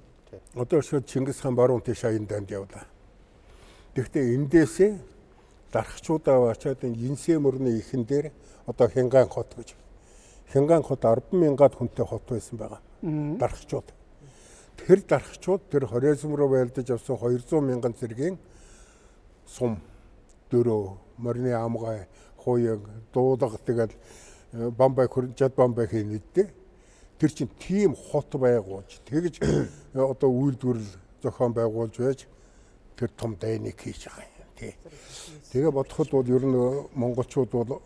Одоо шууд Чингис хаан баруун тийш аян данд явлаа. Тэгэхдээ эндээсээ дархчуудаа очоод энэ Янсээ мөрний ихэн дээр одоо Хянгаан хот гэж. Хянгаан хот 10,000-аад хүнтэй хот байсан байгаа. Дархчууд. Тэр дархчууд тэр хорезм руу байлдаж авсан 200,000 зэргийн сум, дөрөө, морины амгай, хуяг, дуулга тэгэл Бамбай жад Бамбай хийн үедээ тэр чинь тийм хот байгуулж тэгж одоо үйлдвэрлэл зохион байгуулж байж тэр том дайныг хийж байгаа юм тий. Тэгээ бодоход бол ер нь монголчууд бол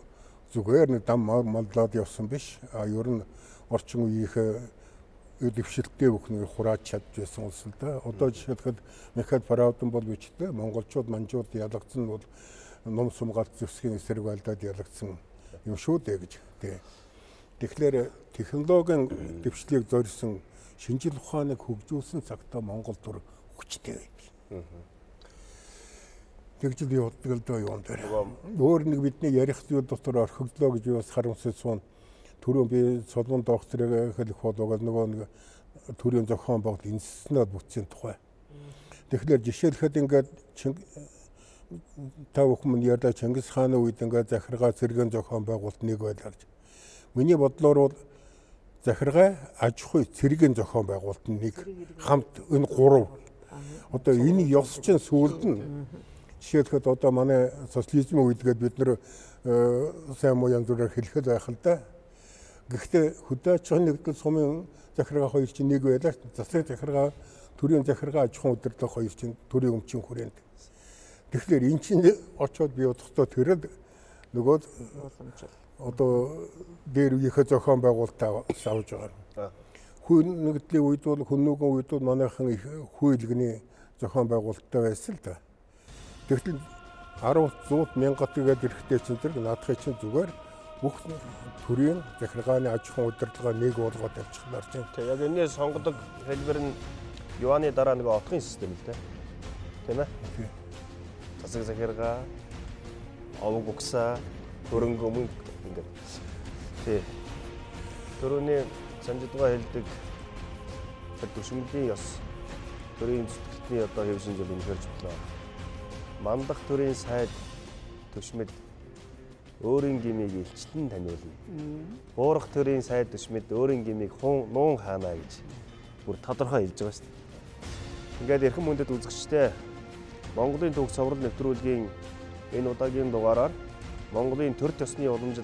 зүгээр нэг дам маллаад явсан биш. Ер нь орчин үеийнхээ дэвшилттэй бүхнийг хурааж чадж байсан улс л да. Одоо жишээлбэл Михаил Паравдан бол бичдэг монголчууд манжууд ялгцсан бол ном сумгаалт зөсгийн эсрэг байлдаад ялгцсан юм шүү дээ гэж тий. Тэгэхээр технологийн дэвшлийг зорьсон шинжил ухааныг хөгжүүлсэн цагтаа Монгол төр хүчтэй байдаг. Тэгж би боддог л доо юм дээр. Өөр нэг бидний ярих зүйл дотор орхигдлоо гэж бас харамсаж суун. Түрүүн би Солон докторыг хэлэх болоод нөгөө нэг төрийн зохион байгуулалт институтнаад бүтсэн тухай. Тэгэхээр жишээлхэд ингээд та бүхэн ярьда Чингис хааны үед ингээд захиргаа зэргийн зохион байгуулалт нэг байлаа гэж. Миний бодлоор бол захиргаа аж ахуй цэргийн зохион байгуулалт нэг хамт энэ гурав. Одоо энэ ёс чинь сүүлд нь жишээлхэд одоо манай социализм үедгээд бид нэр сайн муу янз бүрээр хэлэхэд байх л да. Гэхдээ хөдөө аж ахуйн нэгдэл сумын захиргаа хоёр чинь нэг байлаа. Засаг захиргаа, төрийн захиргаа аж ахуйн удирдлага хоёр чинь төрийн өмчийн хүрээнд. Тэгэхээр эн чинь очоод би бодохдоо тэрэл нөгөө одоо дээр үеийнхээ зохион байгуулалтаа авч байгаа. Хүн нэгдлийн үед бол хүннүүгэн үед бол манайхан их хүйлгэний зохион байгуулалттай байсан л да. Тэгтэл 10-100 мянгат гээд эрэхтэй чинь зэрэг наадахын чинь зүгээр бүх төрийн захиргааны аж ахуйн удирдлага нэг болгоод авчихлаар чинь. Тэг яг энэ сонгодог хэлбэр нь юаны дараа нэг отгын систем л дээ. Тийм ээ? Засаг захиргаа, овог угсаа, хөрөнгө мөнгө ингээд. Тий. Төрөний санжидгаа хэлдэг төшмөлийн ёс төрийн зүтгэлтний одоо хэв шинжил үнэхээр чухал. Мандах төрийн сайд төшмөд өөрийн гмийг илчлэн таниулна. Буурах төрийн сайд төшмөд өөрийн гмийг нуун хаана гэж бүр тодорхой хэлж байгаа шүү дээ. Ингээд эрхэм мөндөд үзэгчтэй Монголын түүх цоврал нэвтрүүлгийн энэ удаагийн дугаараар Монголын төр төсны уламжил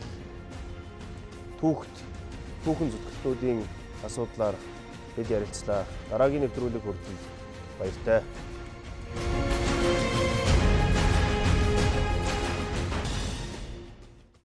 түүхэн зүтгэлтнүүдийн асуудлаар бид ярилцлаа. Дараагийн нэвтрүүлэг хүртэл баяртай.